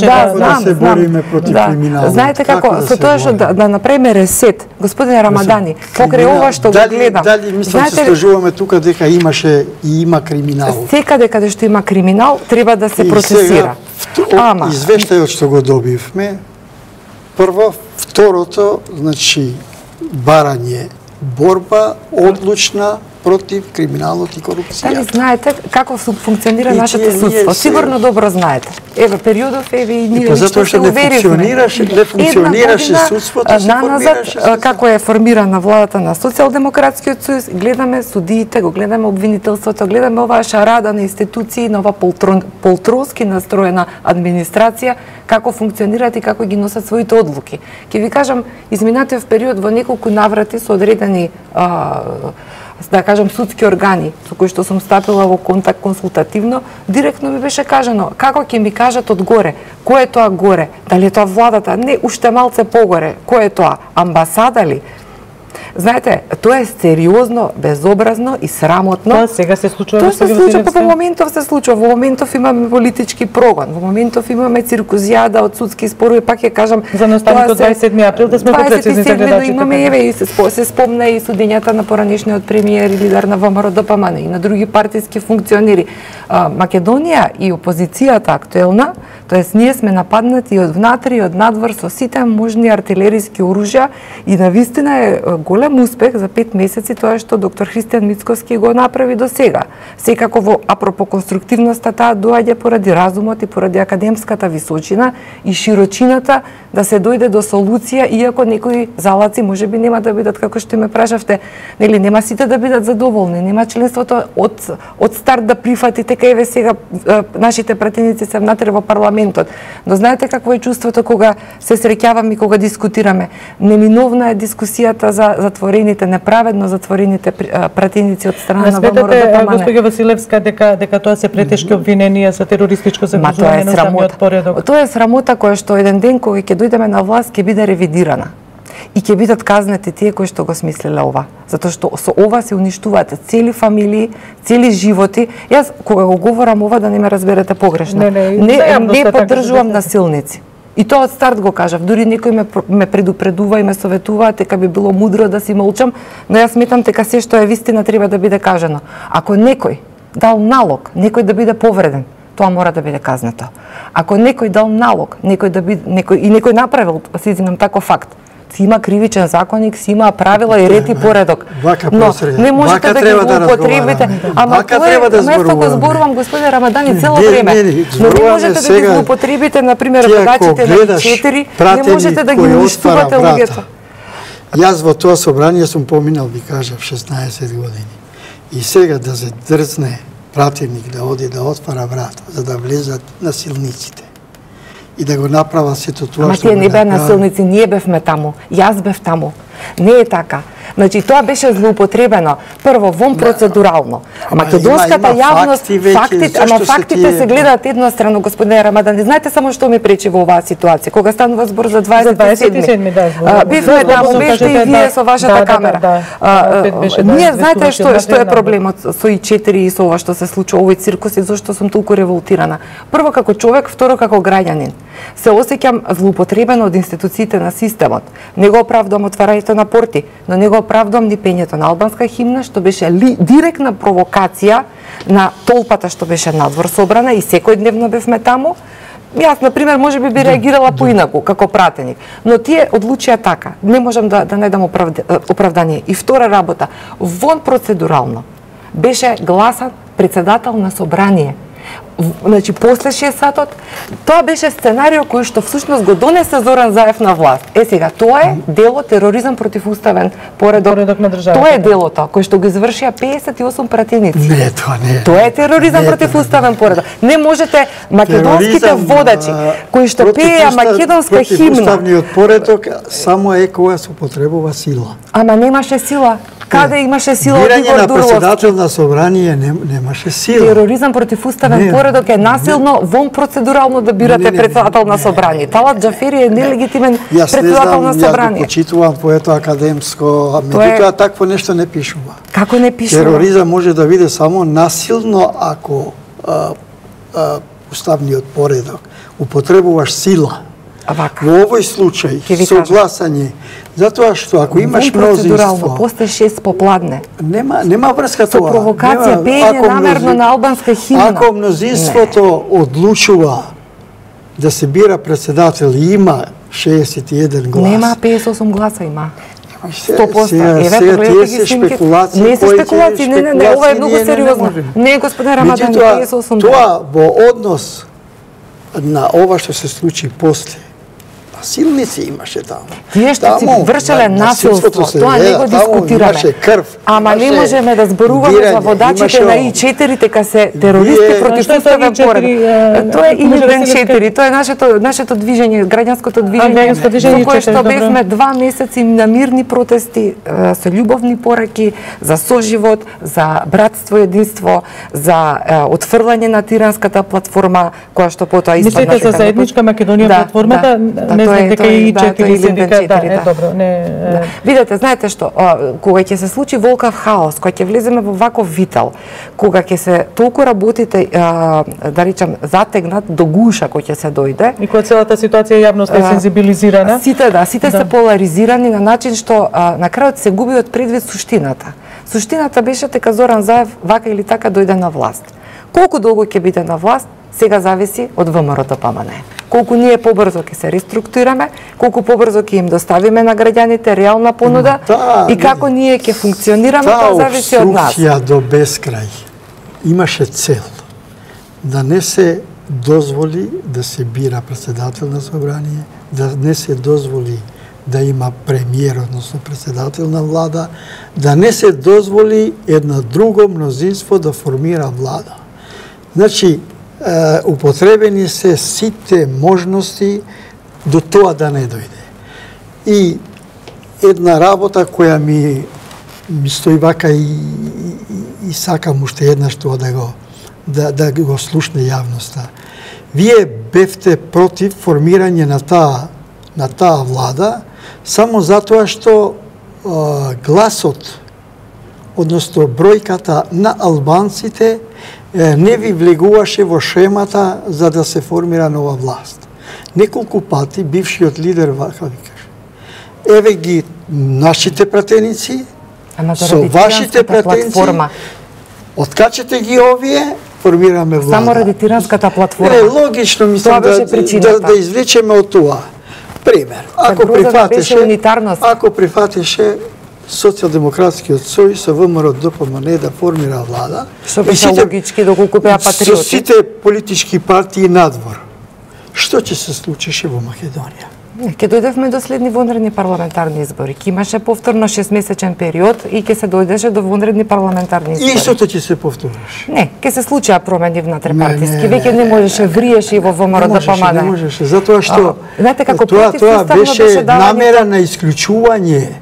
Speaker 3: се бориме против криминалот.
Speaker 2: Знаете како со тоа што да направиме ресет, господине Рамадани, покрај ова што го гледам.
Speaker 3: Дали мислам се сложуваме тука дека имаше и има криминал.
Speaker 2: Секаде каде што има криминал треба да се процесира.
Speaker 3: Ама извештајот што го добивме, прво, второто, значи барање, борба одлучна против криминалот и корупција.
Speaker 2: Дали знаете како функционира нашето судство? Сигурно добро знаете. Еве периодов и ние
Speaker 3: затоа што не функционираше судството, се формираше
Speaker 2: како е формирана владата на Социјалдемократскиот сојуз, гледаме судиите, го гледаме обвинителството, гледаме оваа шарада на институции, на ова полтронски настроена администрација, како функционираат и како ги носат своите одлуки. Ќе ви кажам, изминатиот период во неколку наврати со одредени да кажам судски органи со кои што сум стапила во контакт консултативно, директно ми беше кажано како ќе ми кажат од горе, кој е тоа горе, дали е тоа владата, не, уште малце погоре, кој е тоа, амбасада ли? Знаете, тоа е сериозно, безобразно и срамотно.
Speaker 1: Тоа сега се случува.
Speaker 2: Тоа се случува, во моментов се случува. Во моментов имаме политички прогон, во моментов имаме циркузијада од судски спорови, пак ќе кажам.
Speaker 1: За наостанокот 27 април да сме попрецизни за гледачите.
Speaker 2: Имаме еве и се спомна и судењата на поранешниот премиер и лидер на ВМРО ДПМН и на други партиски функционери. Македонија и опозицијата актуелна, тоест ние сме нападнати од внатре и од надвор со сите можни артилериски оружја и навистина е голем успех за 5 месеци тоа што доктор Христијан Мицкоски го направи до сега. Секако во апропо конструктивноста таа доаѓа поради разумот и поради академската височина и широчината да се дојде до солуција, иако некои залаци можеби нема да бидат како што ме прашавте, нели нема сите да бидат задоволни, нема членството од старт да прифатите кај еве сега нашите пратеници се внатре во парламентот. Но знаете какво е чувството кога се среќаваме и кога дискутираме? Неминовна е дискусијата за затворените, неправедно затворените пратеници од страна на ВМРО ДПМН.
Speaker 1: Госпоѓа Василевска, дека тоа се претешки обвиненија за терористичко загрижување на самиот поредок.
Speaker 2: Тоа е срамота која што еден ден кога ќе дојдеме на власт ќе биде ревидирана. И ќе бидат казнети тие кои што го смислеле ова. Затоа што со ова се уништуваат цели фамилии, цели животи. Јас кога го говорам ова да не ме разберете погрешно. Не поддржувам насилници. И тоа од старт го кажав, дури некој ме предупредува и ме советува дека би било мудро да си молчам, но јас сметам дека се што е вистина треба да биде кажано. Ако некој дал налог, некој да биде повреден, тоа мора да биде казнето. Ако некој дал налог, некој направил, се извинам, таков факт, си има кривичен законник, си има правила и ред и поредок. Но не можете да ги злоупотребите. Ама тоа место го зборувам, господине Рамадани, цело време. Но не можете да ги злоупотребите, например, водачите на 4, не можете да ги уништувате луѓето.
Speaker 3: Јас во тоа собрание сум поминал, ви кажав, 16 години. И сега да се дрзне пратеник да оди да отвара врата, за да влезат насилниците и да го направа сето тоа што
Speaker 2: тие не беа насилници, ние бевме таму, јас бев таму. Не е така. Значи тоа беше злоупотребено. Прво вон процедурално. Македонската јавност, фактите се гледаат еднострано, господине Рамадан. Знаете само што ми пречи во оваа ситуација, кога станува збор за 27-ми. Бивме таму, бевте и вие со вашата камера. Ние знаете што е проблемот со И4 и со ова што се случува овој циркус и зашто сум толку револтирана. Прво како човек, второ како граѓанин. Се осеќам злоупотребено од институциите на системот. Не го оправдувам отварањето на порти, но не го оправдувам ни пењето на албанска химна, што беше директна провокација на толпата што беше надвор собрана и секојдневно бевме таму. Јас, например, може би реагирала поинаку, како пратеник. Но тие одлучија така. Не можам да не дам оправдание. И втора работа, вон процедурално беше гласан председател на собрание. Значи, после 6 сатот, тоа беше сценарио кој што всушност го донесе Зоран Заев на власт. Сега, тоа е дело тероризам против уставен поредок на државата. Тоа е делото кој што го извршија 58 пратеници.
Speaker 3: Не, тоа не е.
Speaker 2: Тоа е тероризам против уставен поредок. Не можете македонските водачи кои што пееа македонска химна.
Speaker 3: Уставниот поредок само е кога се употребува сила.
Speaker 2: Ама немаше сила. Каде имаше сила од Игор Дурловски?
Speaker 3: Бирање на председател на собрание немаше сила.
Speaker 2: Тероризам против уставен поредок е насилно, вон процедурално да бирате председател на собрание. Талат Џафери е нелегитимен председател на собрание.
Speaker 3: Јас го почитувам поето академско, меѓутоа такво нешто не пишува.
Speaker 2: Како не пишува?
Speaker 3: Тероризам може да биде само насилно ако уставниот поредок употребуваш сила. Во овој случај со гласање, затоа што ако имаш мнозинство,
Speaker 2: после 6 попладне.
Speaker 3: Нема врска тоа.
Speaker 2: Со провокација, пеење намерно на албанска химна.
Speaker 3: Ако мнозинството одлучува да се бира председател и има 61 глас.
Speaker 2: Нема 58 гласа има. 100%.
Speaker 3: Сега тие се спекулации.
Speaker 2: Не се спекулации, не, ова е многу сериозно. Не, господин Рамадан, 58 гласа.
Speaker 3: Тоа во однос на ова што се случи после. Насилници имаше таму.
Speaker 2: Тие што си вршеле насилство, тоа не го дискутираме.
Speaker 3: Имаше крв.
Speaker 2: Ама не можеме да зборуваме за водачите на И4 дека се терористи против уставен поредок. Тоа е Илиден 4, тоа е нашето движење, граѓанското движење, во кое што бевме 2 месеци на мирни протести, со љубовни пораки, за соживот, за братство и единство, за отфрлање на тиранската платформа, која што потоа испадна.
Speaker 1: Мислите за заедничка Македонија платформата? Дека и 4 синдиката, добро, не.
Speaker 2: Видете, знаете што, кога ќе се случи волкав хаос, кога ќе влеземе во ваков вител, кога ќе се толку работите, да речам, затегнат до гуша кој ќе се дојде.
Speaker 1: И кога целата ситуација јавноста е сензибилизирана.
Speaker 2: Сите се поларизирани на начин што на крајот се губи од предвид суштината. Суштината беше дека Зоран Заев вака или така дојде на власт. Колку долго ќе биде на власт, сега зависи од ВМРО-ДПМН. Колку ние побрзо ќе се реструктурираме, колку побрзо ќе им доставиме на граѓаните реална понуда и како ние ќе функционираме, тоа зависи од нас.
Speaker 3: Таа обструкција до бескрај имаше цел да не се дозволи да се бира председател на собрание, да не се дозволи да има премиер, односно председател на влада, да не се дозволи една друго мнозинство да формира влада. Значи, употребени се сите можности до тоа да не дојде. И една работа која ми стои вака и сакам уште еднаш тоа да го слушне јавноста. Вие бевте против формирање на таа влада само затоа што гласот, односно бројката на албанците не ви влегуваше во шемата за да се формира нова власт. Неколку пати бившиот лидер вака ви каже: еве ги нашите пратеници, со вашите пратеници, откачете ги овие, формираме влада.
Speaker 2: Само ради тиранската платформа.
Speaker 3: Логично мислам да извлечеме од тоа. Пример, ако прифатеше Социјалдемократскиот сојуз со ВМРО-ДПМН да формира влада,
Speaker 2: што беше логички доколку беа патриоти,
Speaker 3: со сите политички партии надвор, што ќе се случише во Македонија?
Speaker 2: Ке дојдевме до следни вонредни парламентарни избори. Ке имаше повторно 6-месечен период и ке се дојдеше до вонредни парламентарни избори.
Speaker 3: И истото ќе се повториш?
Speaker 2: Не, ке се случија промени внатре-партиски. Веќе не можеше, вриеше и во ВМРО-ДПМН.
Speaker 3: Не можеше, затоа што
Speaker 2: знаете како
Speaker 3: тоа беше намера на исклучување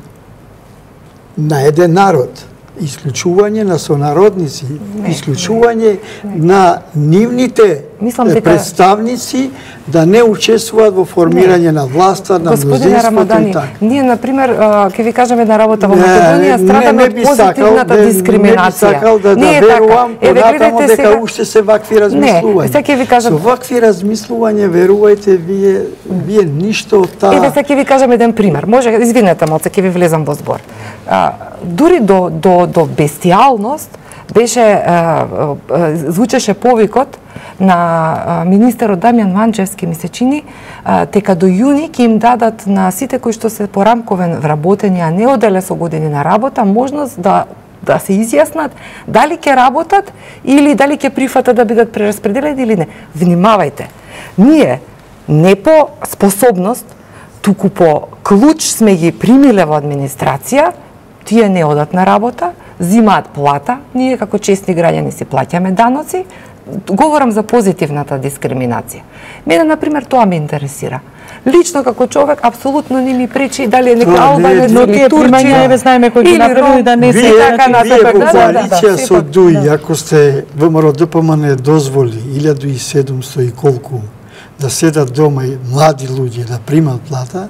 Speaker 3: на еден народ, исклучување на сонародници, исклучување на нивните представници да не учествуваат во формирање на власта, на мнозинството и така.
Speaker 2: Ние, например, ќе ви кажем една работа во Македонија, страдаме од позитивната дискриминација.
Speaker 3: Не би сакал да верувам понатамо дека уште се вакви размислувања.
Speaker 2: Не, сега ќе ви кажам...
Speaker 3: Со вакви размислувања, верувајте, вие ништо од таа...
Speaker 2: Еве, сега ќе ви кажам еден пример. Може, извинете малце, ќе ви влезам во збор. Дури до бестијалност звучеше повикот на министерот Дамјан Манчевски, ми се чини, дека до јуни ќе им дадат на сите кои што се порамковен вработени, а не оделе со години на работа, можност да се изјаснат дали ќе работат или дали ќе прифатат да бидат прераспределени или не. Внимавајте, ние не по способност, туку по клуч сме ги примиле во администрација, тие не одат на работа, зимаат плата, ние како честни граѓани си плаќаме даноци. Говорам за позитивната дискриминација. Мене, например, тоа ме интересира. Лично како човек апсолутно не ми пречи дали е некој албанец или Турција,
Speaker 1: еве знаеме кој ги направи да не се
Speaker 3: така на коалиција со ДУИ, ако сте ВМРО ДПМН дозволи 1700 и колку да седат дома и млади луѓе да примат плата,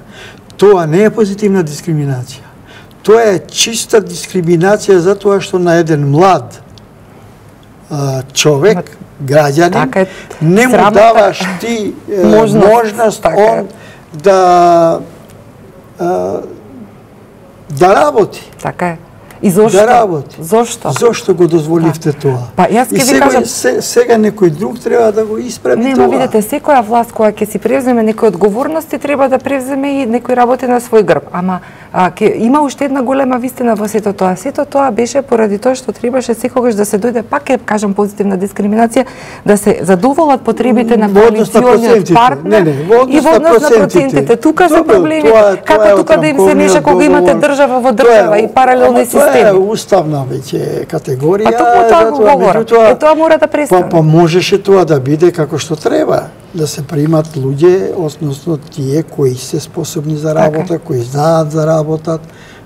Speaker 3: тоа не е позитивна дискриминација. Тоа е чиста дискриминација затоа што на еден млад човек, граѓанин, не му даваш ти можност он да работи.
Speaker 2: Така е. И зошто?
Speaker 3: Да работи.
Speaker 2: Зошто?
Speaker 3: Зошто го дозволивте тоа?
Speaker 2: Па јас ќе ви кажам,
Speaker 3: сега некој друг треба да го исправи тоа.
Speaker 2: Нема, видите, секоја власт која ќе си превземе некои одговорности треба да превземе и некој работи на свој грб. Ама има уште една голема вистина во сето тоа. Сето тоа беше поради тоа што требаше секогаш да се дојде, пак ќе кажам позитивна дискриминација, да се задоволат потребите на коалициониот партнер и во однос на процентите. Тука се проблеми, како тука да им се меша кога имате држава во држава и паралелни системи.
Speaker 3: Тоа е уставна веќе категорија.
Speaker 2: А токму тоа го говорам. Тоа мора да престане.
Speaker 3: Па можеше тоа да биде како што треба, да се примат луѓе, односно тие кои се способни за работа, кои знаат за работат.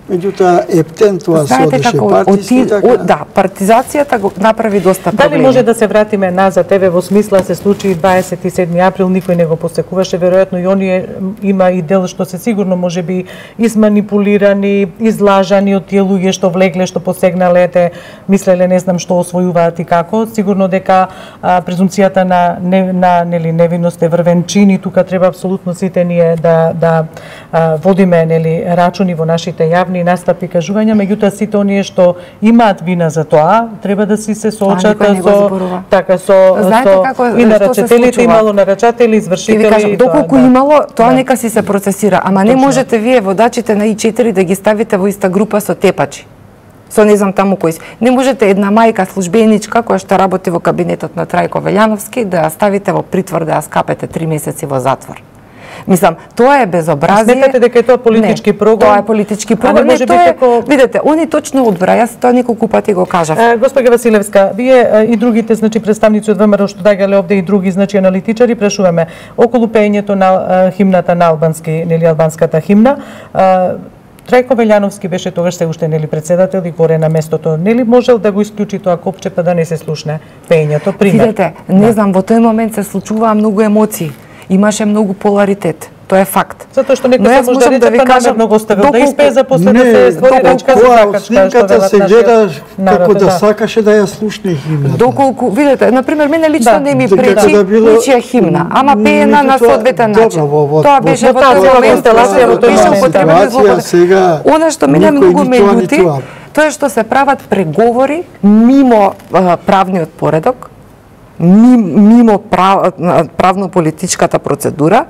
Speaker 3: Меѓутоа, ептен тоа се одеше партиски, така?
Speaker 2: Да, партизацијата го направи доста проблеми.
Speaker 1: Дали може да се вратиме назад, еве во смисла се случи 27 април, никој не го посекуваше, веројатно и оние има и дел што се сигурно можеби изманипулирани, излажани од тие луѓе што влегле, што посегнале, мислеле не знам што освојуваат и како. Сигурно дека презумцијата на невиност е врвен чин и тука треба апсолутно сите ние да водиме рачуни во нашите јавни настапи и кажувања, меѓутоа сите оние што имаат вина за тоа, треба да си се соочат и нарачателите, имало нарачатели, извршители.
Speaker 2: Доколку имало, тоа нека си се процесира, ама не можете вие водачите на И4 да ги ставите во иста група со тепачи. Со не знам таму кои. Не можете една мајка службеничка која што работи во кабинетот на Трајко Велјановски да ја ставите во притвор, да ја скапете 3 месеци во затвор. Мислам, тоа е безобразие.
Speaker 1: Сметате дека е тоа политички програм?
Speaker 2: Тоа е политички програм. Видете, они точно одбра, јас тоа неколку пати го кажав.
Speaker 1: Госпоѓа Василевска, вие и другите представници од ВМРО што доаѓале овде и други аналитичари прашуваме околу пеењето на химната на албански, албанската химна. Трајко Велјановски беше тогаш се уште председател и горе на местото. Нели можел да го исклучи тоа копче па да не се слушне пеењето, пример?
Speaker 2: Видете, не знам, во тој момент се случуваа многу емоции. Имаше многу поларитет. Тоа е факт.
Speaker 1: Затоа што некој се може да ви кажа многу оставил да испее за после да се створи речка за сакачка.
Speaker 3: Снимката се гледа како да сакаше да ја слушне химната.
Speaker 2: Доколку, видете, например, мене лично не ми пречи ничија химна, ама пеена на соодветен начин. Тоа беше во тој момент, беше употребено злопотреба. Она што мене многу ме љути, тоа е што се прават преговори мимо правниот поредок, мимо правно-политичката процедура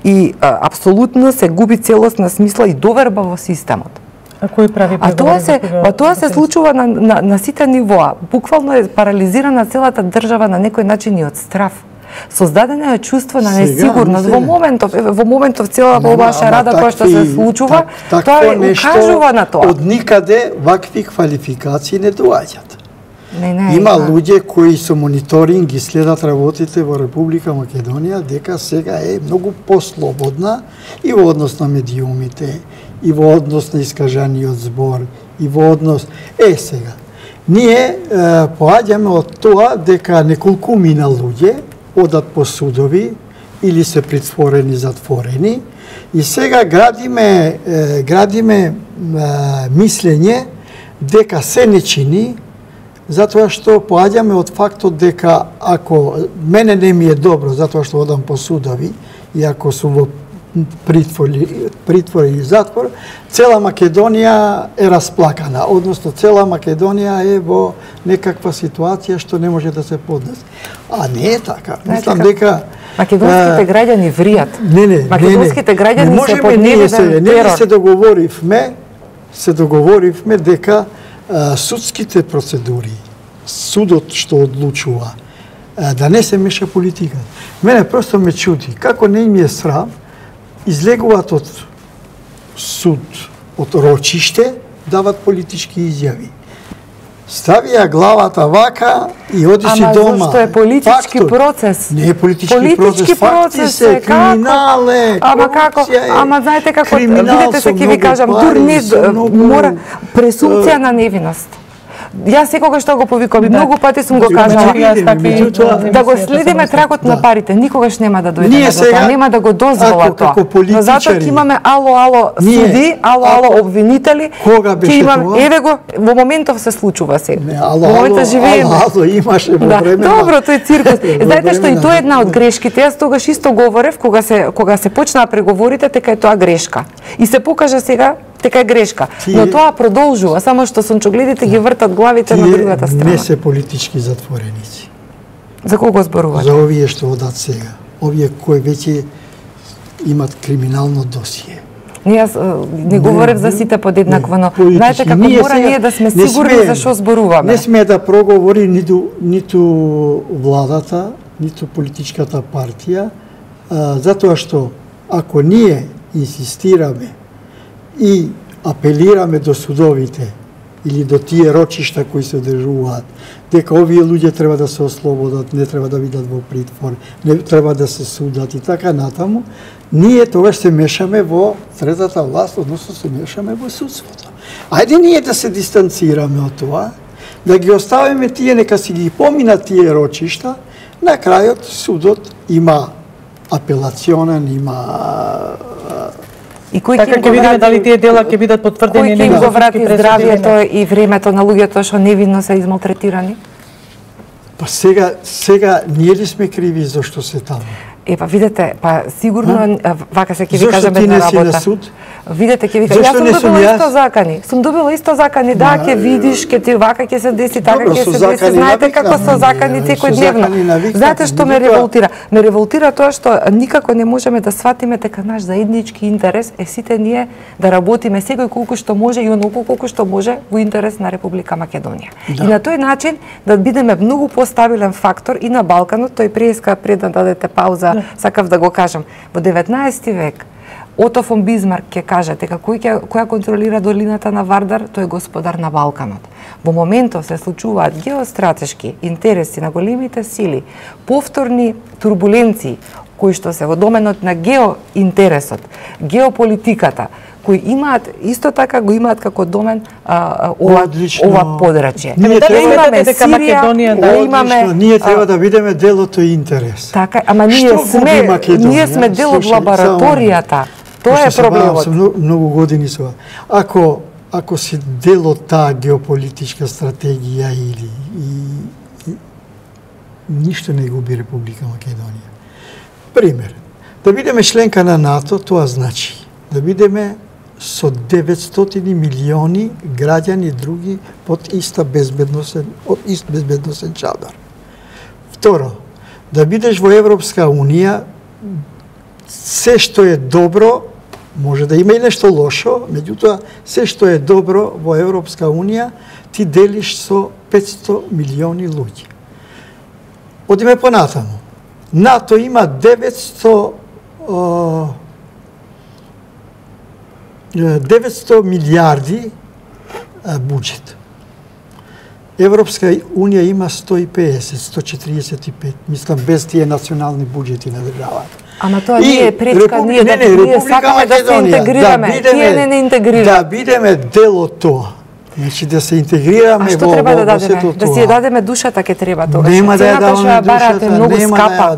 Speaker 2: и апсолутно се губи целосна смисла и доверба во системот.
Speaker 1: А кој прави преговори?
Speaker 2: Тоа се случува на сите нивоа. Буквално е парализирана целата држава на некој начин и од страв. Создадено е чувство на несигурност во моментов цела ваша рада која што се случува, тоа укажува на тоа.
Speaker 3: Од никаде вакви квалификации не доаѓаат.
Speaker 2: Не,
Speaker 3: има луѓе кои со мониторинг ги следат работите во Република Македонија дека сега е многу послободна и во однос на медиумите, и во однос на искажаниот збор, и во однос. Сега, ние поаѓаме од тоа дека неколкумина луѓе одат по судови или се притворени, затворени, и сега градиме мислење дека се не чини, затоа што поаѓаме од фактот дека ако мене не ми е добро затоа што одам по судови и ако сум во притвор или затвор, цела Македонија е расплакана, односно цела Македонија е во некаква ситуација што не може да се поднесе. А не е така. Мислам дека
Speaker 2: македонските граѓани вријат. Македонските граѓани се под невиден терор.
Speaker 3: Се договоривме дека судските процедури, судот што одлучува, да не се меша политика. Мене просто ме чуди, како не им е срам, излегуваат од суд, од рочиште, дават политички изјави. Ставија главата вака и оди си дома.
Speaker 2: Ама зашто е политички процес?
Speaker 3: Не е политички процес, факти се, криминал е, корупција е.
Speaker 2: Ама знаете како, видите се ќе ви кажам, мора презумпција на невиност. Јас секогаш што го повикувам, многу пати сум го кажала, да го следиме трагот на парите, никогаш нема да дојде до тоа, нема да го дозвола тоа. Но затоа ќе имаме ало суди, ало обвинители, ќе имаме, еве го, во моментов се случува сега. Во моментот живееме.
Speaker 3: Ало имаше во време.
Speaker 2: Добро, тој циркус. Знаете што и тоа е една од грешките. Јас тогаш исто говорев кога се почнаа преговорите, дека е тоа грешка. И се покажа сега дека е грешка. Но тоа продолжува, само што сончогледите ги вртат главите на другата страна.
Speaker 3: Не се политички затвореници.
Speaker 2: За кого зборувате?
Speaker 3: За овие што одат сега. Овие кои веќе имат криминално досие.
Speaker 2: Јас не говорев за сите подеднакво, но знаете како мора ние да сме сигурни за што зборуваме.
Speaker 3: Не сме да проговори ниту владата, ниту политичката партија, затоа што ако ние инсистираме и апелираме до судовите или до тие рочишта кои се одржуваат, дека овие луѓе треба да се ослободат, не треба да бидат во притвор, не треба да се судат и така натаму, ние тогаш се мешаме во третата власт, односно се мешаме во судството. Ајде ние да се дистанцираме од тоа, да ги оставиме тие, нека си ги поминат тие рочишта, на крајот судот има апелационен, има
Speaker 2: И кој
Speaker 1: така ќе видиме дали тие дела ќе бидат потврдени или не.
Speaker 2: Кој ќе го врати здравието и времето на луѓето што невинно се измалтретирани?
Speaker 3: Па сега ние ли сме криви зашто се таму?
Speaker 2: Па видете, сигурно вака се ќе ви кажам една работа.
Speaker 3: Зашто ти не си на суд?
Speaker 2: Видете, ќе ви кажам, јас сум добила исто закани. Сум добила исто закани, да, ќе видиш, ќе ти вака ќе се деси, така ќе се деси. Знаете како со закани секојдневно. Знаете што ме револтира? Ме револтира тоа што никако не можеме да сватиме дека наш заеднички интерес е сите ние да работиме секој колку што може и онолку колку што може во интерес на Република Македонија. И на тој начин да бидеме многу постабилен фактор и на Балканот, тој пред да дадете пауза, сакав да го кажам. Во 19 век Ото фон Бисмарк ќе каже дека која контролира долината на Вардар, тој е господар на Балканот. Во моментов се случуваат геостратешки интереси на големите сили, повторни турбуленции кои што се во доменот на геоинтересот, геополитиката, кои имаат исто така го имаат како домен ова подрачје.
Speaker 3: Ние
Speaker 2: имаме Сирија,
Speaker 3: имаме ние треба да бидеме делото интерес.
Speaker 2: Така, ама ние сме дел од лабораторијата. Тоа е проблемот.
Speaker 3: Многу години со. Ако си дел од таа геополитичка стратегија или ништо не губи Република Македонија. Пример, да бидеме членка на НАТО, тоа значи да бидеме со 900 милиони граѓани други под ист безбедносен чадар. Второ, да бидеш во Европска Унија, се што е добро, може да има и нешто лошо, меѓутоа, се што е добро во Европска Унија, ти делиш со 500 милиони луѓе. Одиме понатаму. НАТО има 900 милиарди буџет. Европска Унија има 150, 145, мислам без тие национални буџети на државата.
Speaker 2: Ама тоа не е пречка, ние сакаме да се интегрираме, тие не интегрираме.
Speaker 3: Да бидеме дел од тоа. Значи да се интегрираме
Speaker 2: во што треба да дадеме?
Speaker 3: сето
Speaker 2: Да си ја дадеме душата ке треба тоа.
Speaker 3: Нема да ја даваме
Speaker 2: душата, многу скапа.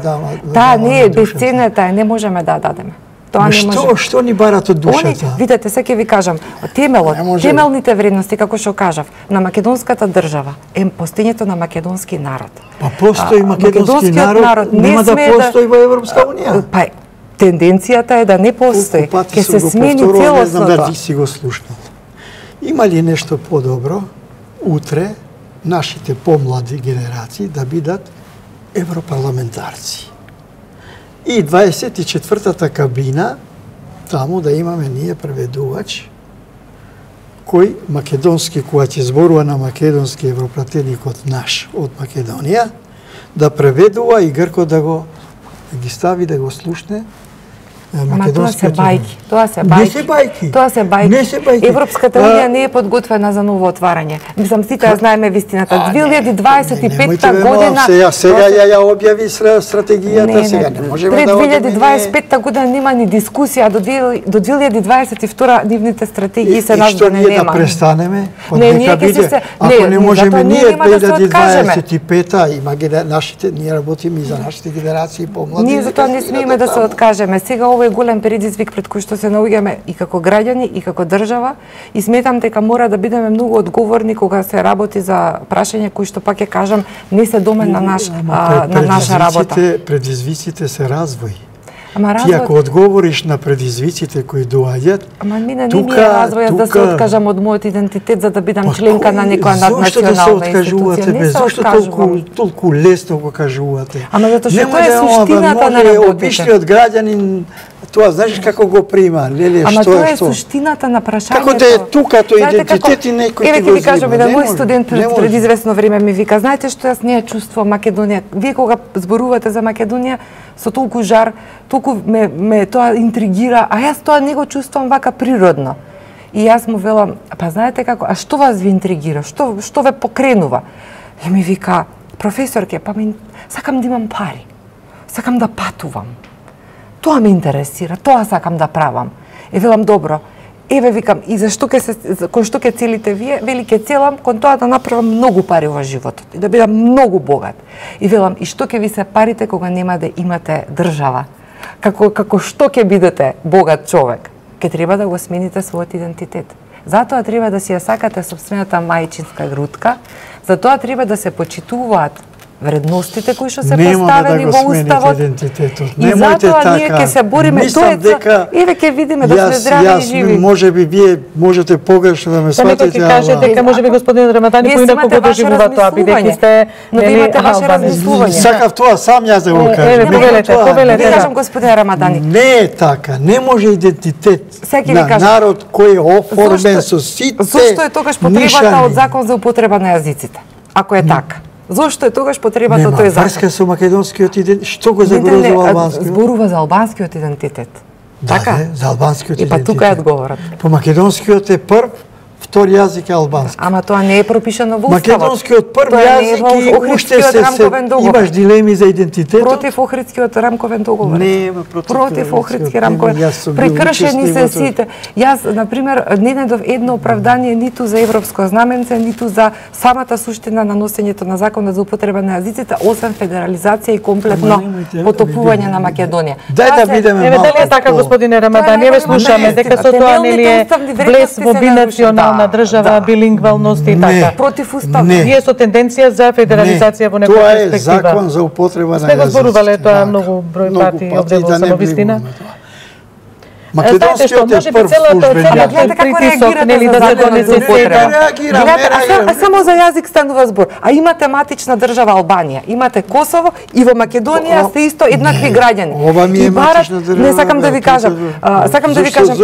Speaker 2: Таа не е бесценета, не можеме да дадеме. Тоа не може.
Speaker 3: Што ни барат од душата?
Speaker 2: Видете, сега ќе ви кажам, темелните вредности, како што кажав, на македонската држава е постоењето на македонски народ.
Speaker 3: Па постои македонски народ, нема да постои во Европска унија.
Speaker 2: Па тенденцијата е да не постои. Ќе се смени целосно.
Speaker 3: Не знам дали си го слушнал. Има ли нешто подобро утре нашите помлади генерации да бидат европарламентарци? И 24-та кабина, таму да имаме ние преведувач, кој македонски, кога ќе зборува на македонски европратеникот наш од Македонија, да преведува и Грко да ги стави да го слушне.
Speaker 2: Ама тоа се бајки.
Speaker 3: Тоа се бајки.
Speaker 2: Тоа се бајки. Европската унија не е подготвена за ново отварање. Мислам, сите ја знаеме вистината. 2025 година...
Speaker 3: Сега ја објави стратегијата, сега не можеме да
Speaker 2: одиме. Пред 2025 година нема ни дискусија, до 2022 нивните стратегии се наздане нема.
Speaker 3: И што ние да престанеме?
Speaker 2: Не, ние ќе се...
Speaker 3: Ако не можеме ние 2025-та, ние работиме и за нашите генерации помлади.
Speaker 2: Ние затоа не смееме да се откажеме. Сега ова е голем предизвик пред кој што се наоѓаме и како граѓани и како држава и сметам дека мора да бидеме многу одговорни кога се работи за прашање кои што пак ќе кажам не се домен на наша работа.
Speaker 3: Предизвиците се развој.
Speaker 2: Ти
Speaker 3: ако одговориш на предизвиците кои доаѓаат,
Speaker 2: ама мене не ми е развојот да се откажам од мојот идентитет за да бидам членка на некоја наднационална институција.
Speaker 3: Зошто толку лесно го кажувате?
Speaker 2: Ама затоа што тоа е суштината на работите.
Speaker 3: Обичниот граѓанин тоа знаеш како го прима, леле, што е што?
Speaker 2: Ама тоа е суштината на прашањето.
Speaker 3: Како да е тука тој идентитет и некој ти го
Speaker 2: ви кажам, еден мој студент пред известно време ми вика, знаете што јас не ја чувствувам Македонија. Вие кога зборувате за Македонија со толку жар, толку ме тоа интригира, а јас тоа не го чувствувам вака природно. И јас му велам, па знаете како, а што вас ви интригира? Што ве покренува? И ми вика, професорке, па сакам да имам пари. Сакам да патувам. Тоа ме интересира, тоа сакам да правам. И велам, добро, еве викам, и кон што ќе целите вие, вели ќе целам кон тоа да направам многу пари во животот и да бидам многу богат. И велам, и што ќе ви се парите кога нема да имате држава? Како што ќе бидете богат човек? Ќе треба да го смените својот идентитет. Затоа треба да си ја сакате собствената мајчинска грудка, затоа треба да се почитуваат вредностите кои што се поставени во уставот. И затоа ние ќе се бориме, тоа е еве ќе видиме да сме здрави и живи.
Speaker 3: Можеби вие можете погрешно да ме сватите,
Speaker 1: ама ќе кажете дека можеби господин Рамадани поинаку го доживува тоа, бидејќи сте
Speaker 2: но ви имате ваше размислување.
Speaker 3: Сакав тоа сам јас да го кажам.
Speaker 2: Повелете. Кажам господин Рамадани.
Speaker 3: Не е така, не може идентитет на народ кој е оформен со сите.
Speaker 2: Зошто е тогаш потребата од закон за употреба на јазиците? Ако е така. Зошто е тогаш потребата од тој закон?
Speaker 3: Нема врска со македонскиот идентитет. Што го загрозува албанскиот?
Speaker 2: Зборува за албанскиот идентитет.
Speaker 3: Така? За албанскиот идентитет.
Speaker 2: И па тука е одговорот.
Speaker 3: По македонскиот е прв, втори јазик е албански.
Speaker 2: Ама тоа не е пропишано во уставот.
Speaker 3: Македонскиот прв јазик и уште имаш дилеми за идентитетот.
Speaker 2: Против Охридскиот рамковен договор.
Speaker 3: Не,
Speaker 2: против Охридски рамковен. Прекршени се сите. Јас, на пример, не најдов едно оправдание ниту за европско знаменце, ниту за самата суштина на носењето на законот за употреба на јазиците, освен федерализација и комплетно потопување на Македонија.
Speaker 3: Дај да бидеме малку.
Speaker 1: Дали е така, господине Рамадани? Еве слушаме дека со тоа нели е влез во бинационална држава, билингвалност и така.
Speaker 2: Против уставот.
Speaker 1: Вие со тенденција за федерализација во некоја перспектива.
Speaker 3: Тоа е закон за употреба на јазиците.
Speaker 1: Сме го зборувале тоа многу број пати овде во Самовистина.
Speaker 3: Македонскиот е прв службен јазик.
Speaker 1: Притисок, нели, да се донесе сега.
Speaker 2: А само за јазик станува збор. А имате матична држава Албанија, имате Косово и во Македонија сте исто еднакви граѓани.
Speaker 3: Ова ми е матична држава.
Speaker 2: Не сакам да ви кажам,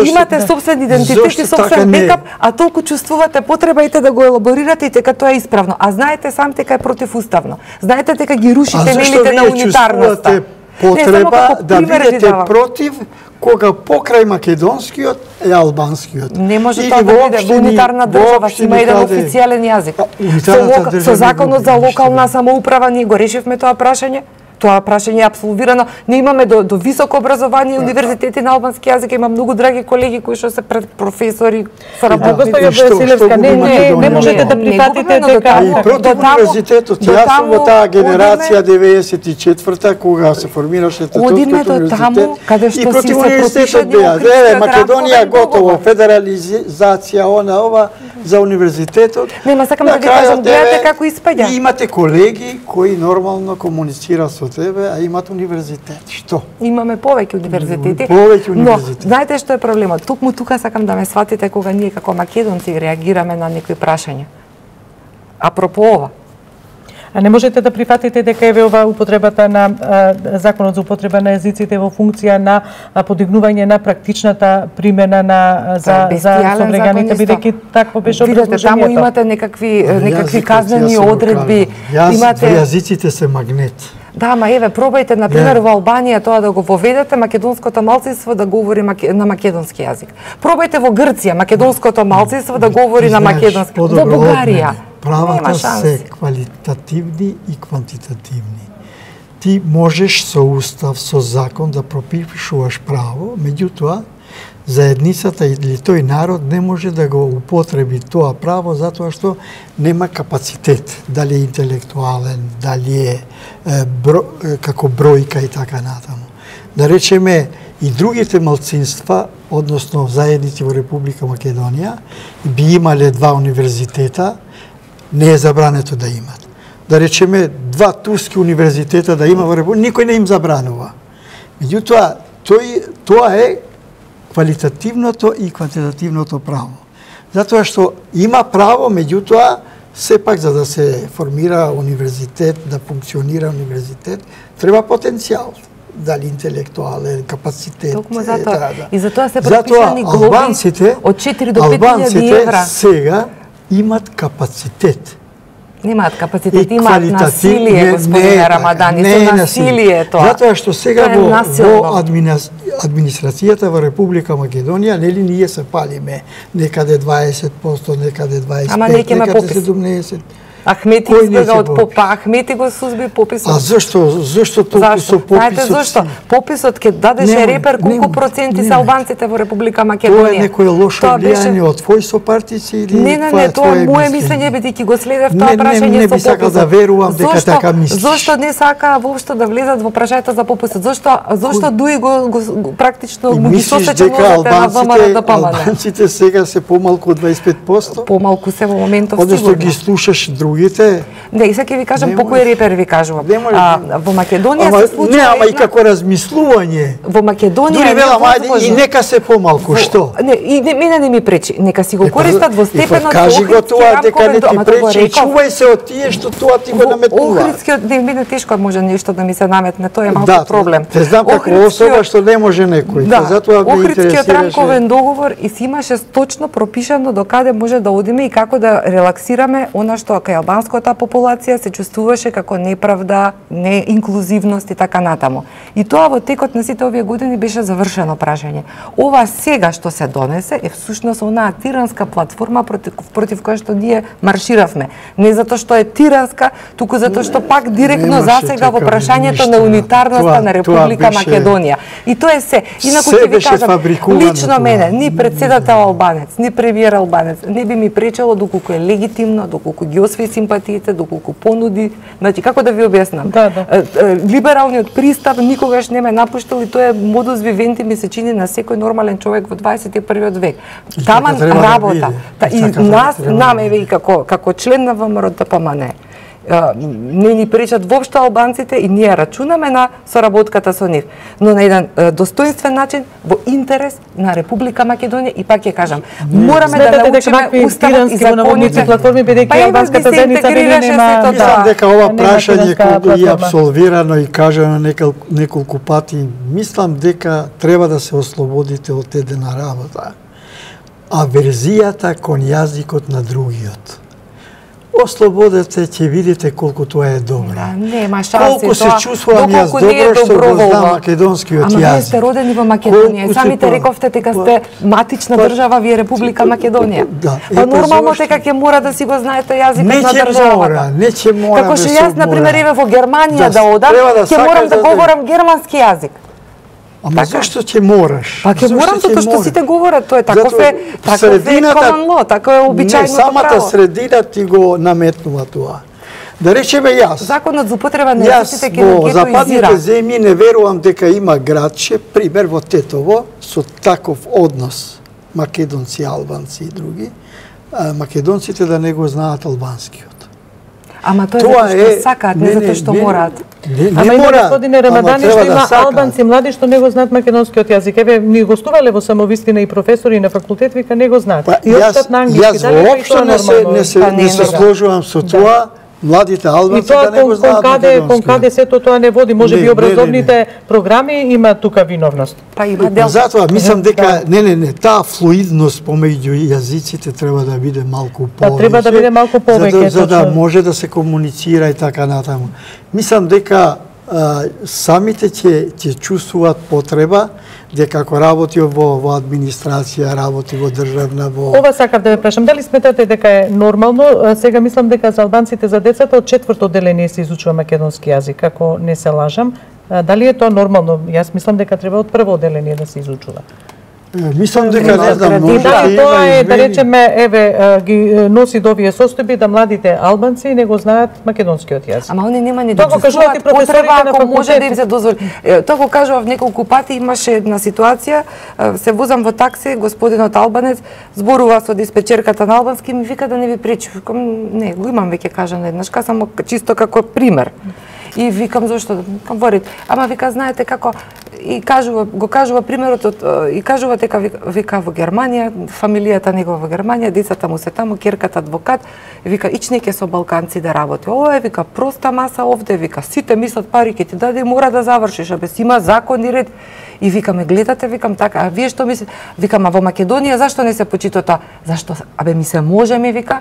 Speaker 2: имате собствен идентитет и собствен бекап, а толку чувствувате потребајте да го елаборирате и дека тоа е исправно. А знаете сам дека е противуставно. Знаете дека ги рушите нелите на унитарноста.
Speaker 3: Потреба да бидете против кога покрај македонскиот е албанскиот.
Speaker 2: Не може тоа да биде во унитарна држава, има еден официјален јазик. Со законот за локална самоуправа ние го решивме тоа прашање. тоа прашање е апсолвирано. Не имаме до високо образование, универзитети на албански јазик, има многу драги колеги кои што се професори, соработници.
Speaker 1: Госпоѓа Василевска, не можете да прифатите дека
Speaker 3: и против универзитетот. Јас сум во таа генерација 94-та кога се формираше Тетовскиот универзитет и против универзитетот беа. Македонија готово, федерализација, ова за универзитетот.
Speaker 2: Нема, сакам да ви кажам, гледате како испаѓа.
Speaker 3: И имате колеги кои нормално комуницираат со тебе, а имат универзитет. Што?
Speaker 2: Имаме повеќе универзитети. Но, знаете што е проблемот? Токму тука сакам да ме сватите кога ние како македонци реагираме на некои прашања. Апропо ова.
Speaker 1: А не можете да прифатите дека еве ова употребата на законот за употреба на езиците во функција на подигнување на практичната примена за современите, бидејќи такво беше образложението.
Speaker 2: Видете, таму имате некакви казнени одредби.
Speaker 3: Јазиците се магнет.
Speaker 2: Да, ма еве, пробајте, например, во Албанија тоа да го воведете, македонското малцинство да говори на македонски јазик. Пробајте во Грција, македонското малцинство да говори на македонски. Во Бугарија.
Speaker 3: Правата се квалитативни и квантитативни. Ти можеш со устав, со закон да пропишуваш право, меѓутоа, заедницата или тој народ не може да го употреби тоа право затоа што нема капацитет, дали е интелектуален, дали е како бројка и така натаму. Да речеме, и другите малцинства, односно заедници во Република Македонија, би имале 2 универзитета, не е забрането да имат. Да речеме, 2 турски универзитета да има во Република, никој не им забранува. Меѓутоа, тоа е квалитативното и квантитативното право. Затоа што има право, меѓутоа, сепак за да се формира универзитет, да функционира универзитет, треба потенцијал. Дали интелектуален капацитет.
Speaker 2: Токму затоа. И затоа се пропишани глоби од 4 до 5.000 евра.
Speaker 3: Сега имат капацитет.
Speaker 2: Немаат капацитет, имаат насилие, господине Рамадан, и со насилие тоа.
Speaker 3: Затоа што сега во администрацијата во Република Македонија, нели ние се палиме некаде 20%, некаде 25%, некаде 17%.
Speaker 2: Ахмети избега од попа, Ахмети го сузби пописот.
Speaker 3: А зашто толку со пописот?
Speaker 2: Знаете зашто? Пописот ке дадеше репер колку проценти се албанците во Република Македонија.
Speaker 3: Тоа е некое лошо влијание од твои сопартици или
Speaker 2: Не, тоа е моје мислење, бидејќи го следев тоа прашање со пописот.
Speaker 3: Не би сакал да верувам дека така мислиш.
Speaker 2: Зошто не сака воопшто да влезат во прашањето за пописот? Зошто дуи го практично ги сосече нозете на ВМРО-ДПМН?
Speaker 3: Албанците сега се помалку од 25%?
Speaker 2: Помалку се во моментов сигурно.
Speaker 3: Одnosno ги слушаш другите.
Speaker 2: Не, и сега ќе ви кажам по кој репер ви кажувам. Во Македонија се случува.
Speaker 3: Не, ама и како размислување.
Speaker 2: Во Македонија
Speaker 3: дури велам ајде и нека се помалку, што?
Speaker 2: Не, и мене не ми пречи. Нека си го користат во степенот.
Speaker 3: Кажи го тоа дека не ти пречи, чувај се од тие што тоа ти го наметнува.
Speaker 2: Охридскиот, не, мене тешко може нешто да ми се наметне, тоа е малку проблем.
Speaker 3: Те знам како особа што не може некој. Затоа ме интересираше.
Speaker 2: Охридскиот рамковен договор и си имаше точно пропишано до каде може да одиме и како да релаксираме она што кај албанската популација се чувствуваше како неправда, неинклузивност и така натаму. И тоа во текот на сите овие години беше завршено прашање. Ова сега што се донесе е всушност онаа тиранска платформа против која што ние марширавме. Не затоа што е тиранска, туку затоа што пак директно засега во прашањето на унитарноста на Република Македонија. И тоа е се. Инаку ќе ви кажам, лично мене, ни председател албанец, ни премиер албанец, не би ми пречело доколку е легитимно, доколку ги освои симпатиите, доколку понуди, значи како да ви објаснам. Либералниот пристап никогаш не ме напуштил и тоа е модус вивенти ми се чини на секој нормален човек во 21 век. Таман работа. И нас, еве и како член на ВМРО-ДПМН, не ни пречат воопшто албанците и ние рачунаме на соработката со нив, но на еден достоинствен начин во интерес на Република Македонија и пак ќе кажам, мораме да научиме уставот и законите.
Speaker 1: Платформи бидејќи албанската заедница нема.
Speaker 3: Мислам дека ова прашање кога е абсолвирано и кажано неколку пати, мислам дека треба да се ослободите од едена работа. Аверзијата кон јазикот на другиот. ослободете, ќе видите колку тоа е добро.
Speaker 2: Да, нема шанси.
Speaker 3: Колку се чувствувам јас добро што го знам македонскиот јазик.
Speaker 2: Ама вие сте родени во Македонија. Самите рековте дека сте матична држава, вие Република Македонија. Па нормално дека ќе мора да си го знаете јазикот на државата.
Speaker 3: Не ќе мора.
Speaker 2: Како што јас на пример еве во Германија да одам, ќе морам да говорам германски јазик.
Speaker 3: Ама зашто ќе мораш?
Speaker 2: Па ќе морам затоа што сите говорат, тоа е таков е common law, тако е обичајното право.
Speaker 3: Не, самата средина ти го наметнува тоа. Да речеме јас.
Speaker 2: Законот за употреба на езиците ќе го
Speaker 3: во западните земји не верувам дека има градче, пример во Тетово, со таков однос македонци, албанци и други, македонците да не го знаат албанскиот.
Speaker 2: Ама тоа е затоа што сакаат, не затоа што мораат.
Speaker 1: Ама има господине Рамадани што има албанци млади што не го знаат македонскиот јазик. Еве ни гостувале во Самовистина и професори на факултет, вика не го знаат.
Speaker 3: И општат на англиски. Јас воопшто не се сложувам со тоа. Младите албанци да не го знаат македонски.
Speaker 1: Кон каде сето тоа не води, може би образовните програми има тука виновност.
Speaker 2: Па има дел.
Speaker 3: Затоа мислам дека таа флуидност помеѓу јазиците треба да биде малку повеќе.
Speaker 1: Па треба да биде малку повеќе,
Speaker 3: за да може да се комуницира и така натаму. Мислам дека самите ќе чувствуваат потреба дека ако работи во администрација, работи во државна, во...
Speaker 1: Ова сакав да ве прашам, дали сметате дека е нормално, сега мислам дека за албанците, за децата од 4-то одделение се изучува македонски јазик, ако не се лажам, дали е тоа нормално? Јас мислам дека треба од прво одделение да се изучува.
Speaker 3: Мислам дека не знам, може
Speaker 1: да има тоа е, да речеме, еве, ги носи до овие состојби да младите албанци не го знаат македонскиот јазик.
Speaker 2: Ама они нема ни да чувствуваат потреба ако може да им се дозволи. Тоа го кажував неколку пати, имаше една ситуација, се возам во такси, господинот албанец зборува со диспечерката на албански, ми вика да не ви пречи. Викам, не, го имам веќе кажано еднаш, само чисто како пример. И викам зошто? Говорит, ама вика знаете како и го кажува примерот и кажува дека вика во Германија, фамилијата негова во Германија, децата му се таму, ќерката адвокат, вика ичнеќе со балканци да работи. Ова е вика проста маса овде, вика сите мислат пари ќе ти даде и мора да завршиш, абе си има закон и ред. И викаме гледате, викам така, а вие што мислите? Викам, а во Македонија зашто не се почитува тоа? Зашто? Абе ми се може ми вика.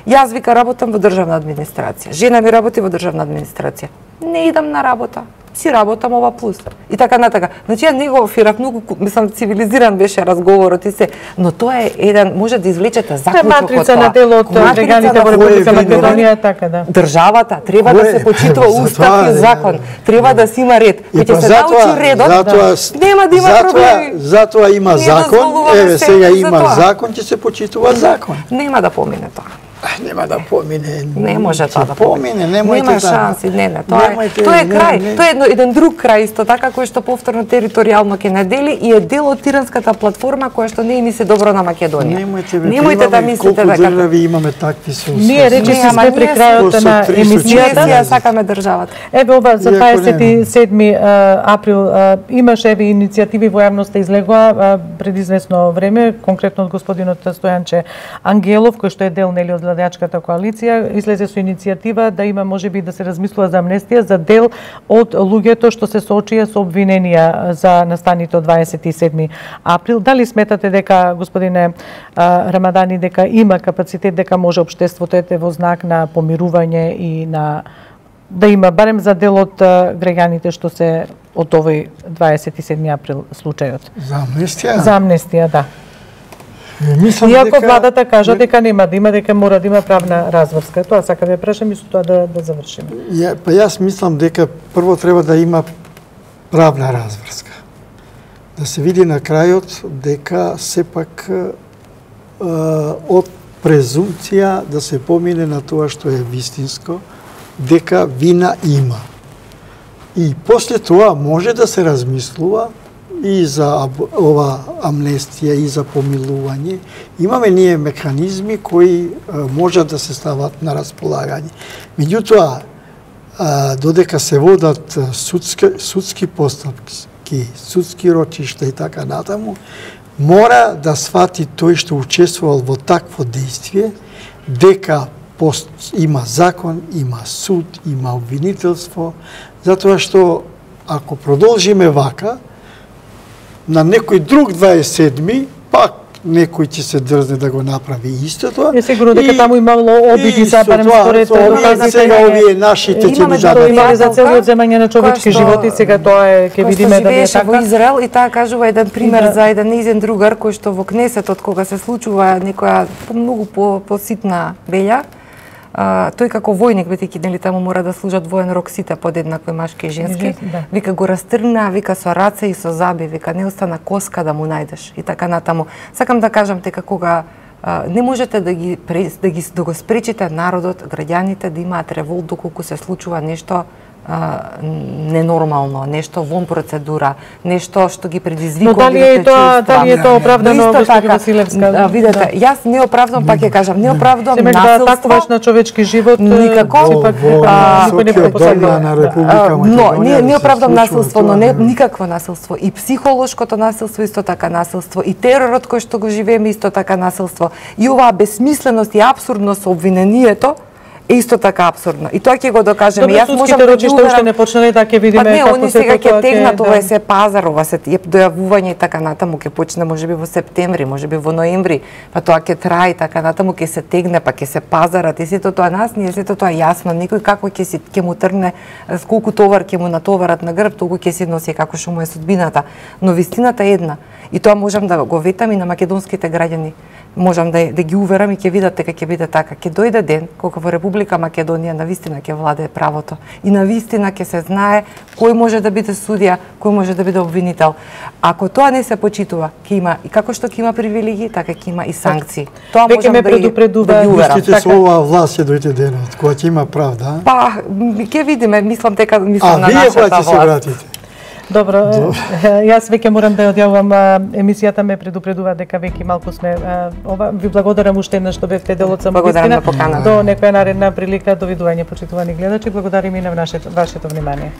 Speaker 2: Јас вика работам во државна администрација. Жена ми работи во државна администрација. Не идам на работа. Си работам ова плюс. И така натака. Значи ја него фирав многу, мислам цивилизиран беше разговорот и се, но тоа е еден може да извлечете заклучок од тоа.
Speaker 1: Матрица на дело од граѓаните во Република Македонија така да.
Speaker 2: Државата треба да се почитува устав и закон. Треба да си има ред. Кој ќе се научи редот, нема да има проблеми.
Speaker 3: Затоа има закон. Еве сега има закон, ќе се почитува закон.
Speaker 2: Нема да помине тоа.
Speaker 3: Нема да помине.
Speaker 2: Не може тоа да
Speaker 3: помине.
Speaker 2: Нема шанси, тоа е крај. Тоа е еден друг крај исто така кој што повторно територијално ќе надели и е дел од Тиранската платформа која што не им се добро на Македонија. Немојте да мислите дека
Speaker 3: држави имаме такви се.
Speaker 1: Ние речиси сме при крајот на емисијата.
Speaker 2: Ние сакаме државата.
Speaker 1: Еве ова за 27 април имаше еве иницијативи во јавноста излегоа пред известно време, конкретно од господинот Стојанче Ангелов кој што е дел нели од владеачката коалиција, излезе со иницијатива да има можеби да се размислува за амнестија за дел од луѓето што се соочија со обвиненија за настаните од 27 април. Дали сметате дека, господине Рамадани, дека има капацитет, дека може општеството ете во знак на помирување и на да има барем за дел од граѓаните што се од овој 27 април случајот?
Speaker 3: За амнестија?
Speaker 1: За амнестија, да.
Speaker 3: Иако
Speaker 1: владата кажа дека нема да има, дека мора да има правна разврска. Тоа сакам да прашам и со тоа да завршиме.
Speaker 3: Па јас мислам дека прво треба да има правна разврска. Да се види на крајот дека сепак од презумција да се помине на тоа што е вистинско, дека вина има. И после тоа може да се размислува и за ова амнестија и за помилување. Имаме ние механизми кои можат да се стават на располагање. Меѓутоа, додека се водат судски постапки, судски рочишта и така натаму, мора да свати тој што учествувал во такво действие, дека има закон, има суд, има обвинителство, затоа што ако продолжиме вака, на некој друг 27-ми, пак некој ќе се дрзне да го направи истото.
Speaker 1: Е сигурно дека таму имало обиди за барем според
Speaker 3: доказите. Сега овие нашите ќе ни
Speaker 1: дадат. Имали за цели одземање на човечки животи, сега тоа е ќе видиме дали е така.
Speaker 2: Во Израел и таа кажува еден пример за еден нејзин другар кој што во Кнесетот кога се случува некоја многу поситна белја, тој како војник, бидејќи нели таму мора да служат воен рок сите подеднакво машки и женски, вика го растргна, вика со раце и со заби, вика не остана коска да му најдеш и така натаму. Сакам да кажам дека кога не можете да го спречите народот, граѓаните да имаат револт доколку се случува нешто ненормално, нешто вон процедура, нешто што ги предизвикува.
Speaker 1: Но дали е тоа оправдано, госпожа Василевска?
Speaker 2: Видете, јас не оправдам, пак ќе кажам, не оправдам насилство.
Speaker 1: Да атакуваш на човечки живот,
Speaker 2: никако.
Speaker 3: Но
Speaker 2: не оправдам насилство, но не никакво насилство. И психолошкото насилство исто така насилство, и теророт кој што го живееме исто така насилство. И оваа бесмисленост и апсурдност со обвинението е исто така апсурдно. И тоа ќе го докажеме.
Speaker 1: Јас можам да ги уверам уште не почнале, да ќе видиме
Speaker 2: како се тоа. Они сега ќе тегнат, ова е се пазар, ова се дојавување и така натаму ќе почне можеби во септември, можеби во ноември, па тоа ќе трае и така натаму ќе се тегне, па ќе се пазарат и сето тоа нас не е сето тоа јасно. Некој како ќе му тргне, колку товар ќе му натоварат на грб, толку ќе си носи како што му е судбината. Но вистината е една. И тоа можам да го ветам и на македонските граѓани. Можам да ги уверам и ќе видат дека ќе биде така. Ќе дојде ден кога во Република Македонија навистина ќе владее правото и навистина ќе се знае кој може да биде судија, кој може да биде обвинител. Ако тоа не се почитува, ќе има и како што ќе има привилегии, така ќе има и санкции. Тоа можам да ги уверам.
Speaker 3: Мислите со оваа власт ќе дојде денот кога ќе има правда?
Speaker 2: Па ќе видиме, мислам на нашата власт.
Speaker 3: А вие кога ќе се вратите?
Speaker 1: Добро, јас веќе морам да одјавувам, емисијата ме предупредува дека веќе малку сме ви благодарам уште еднаш што бевте дел од самовистина. До некоја наредна прилика, довидување почитувани гледачи, благодарим и на вашето внимание.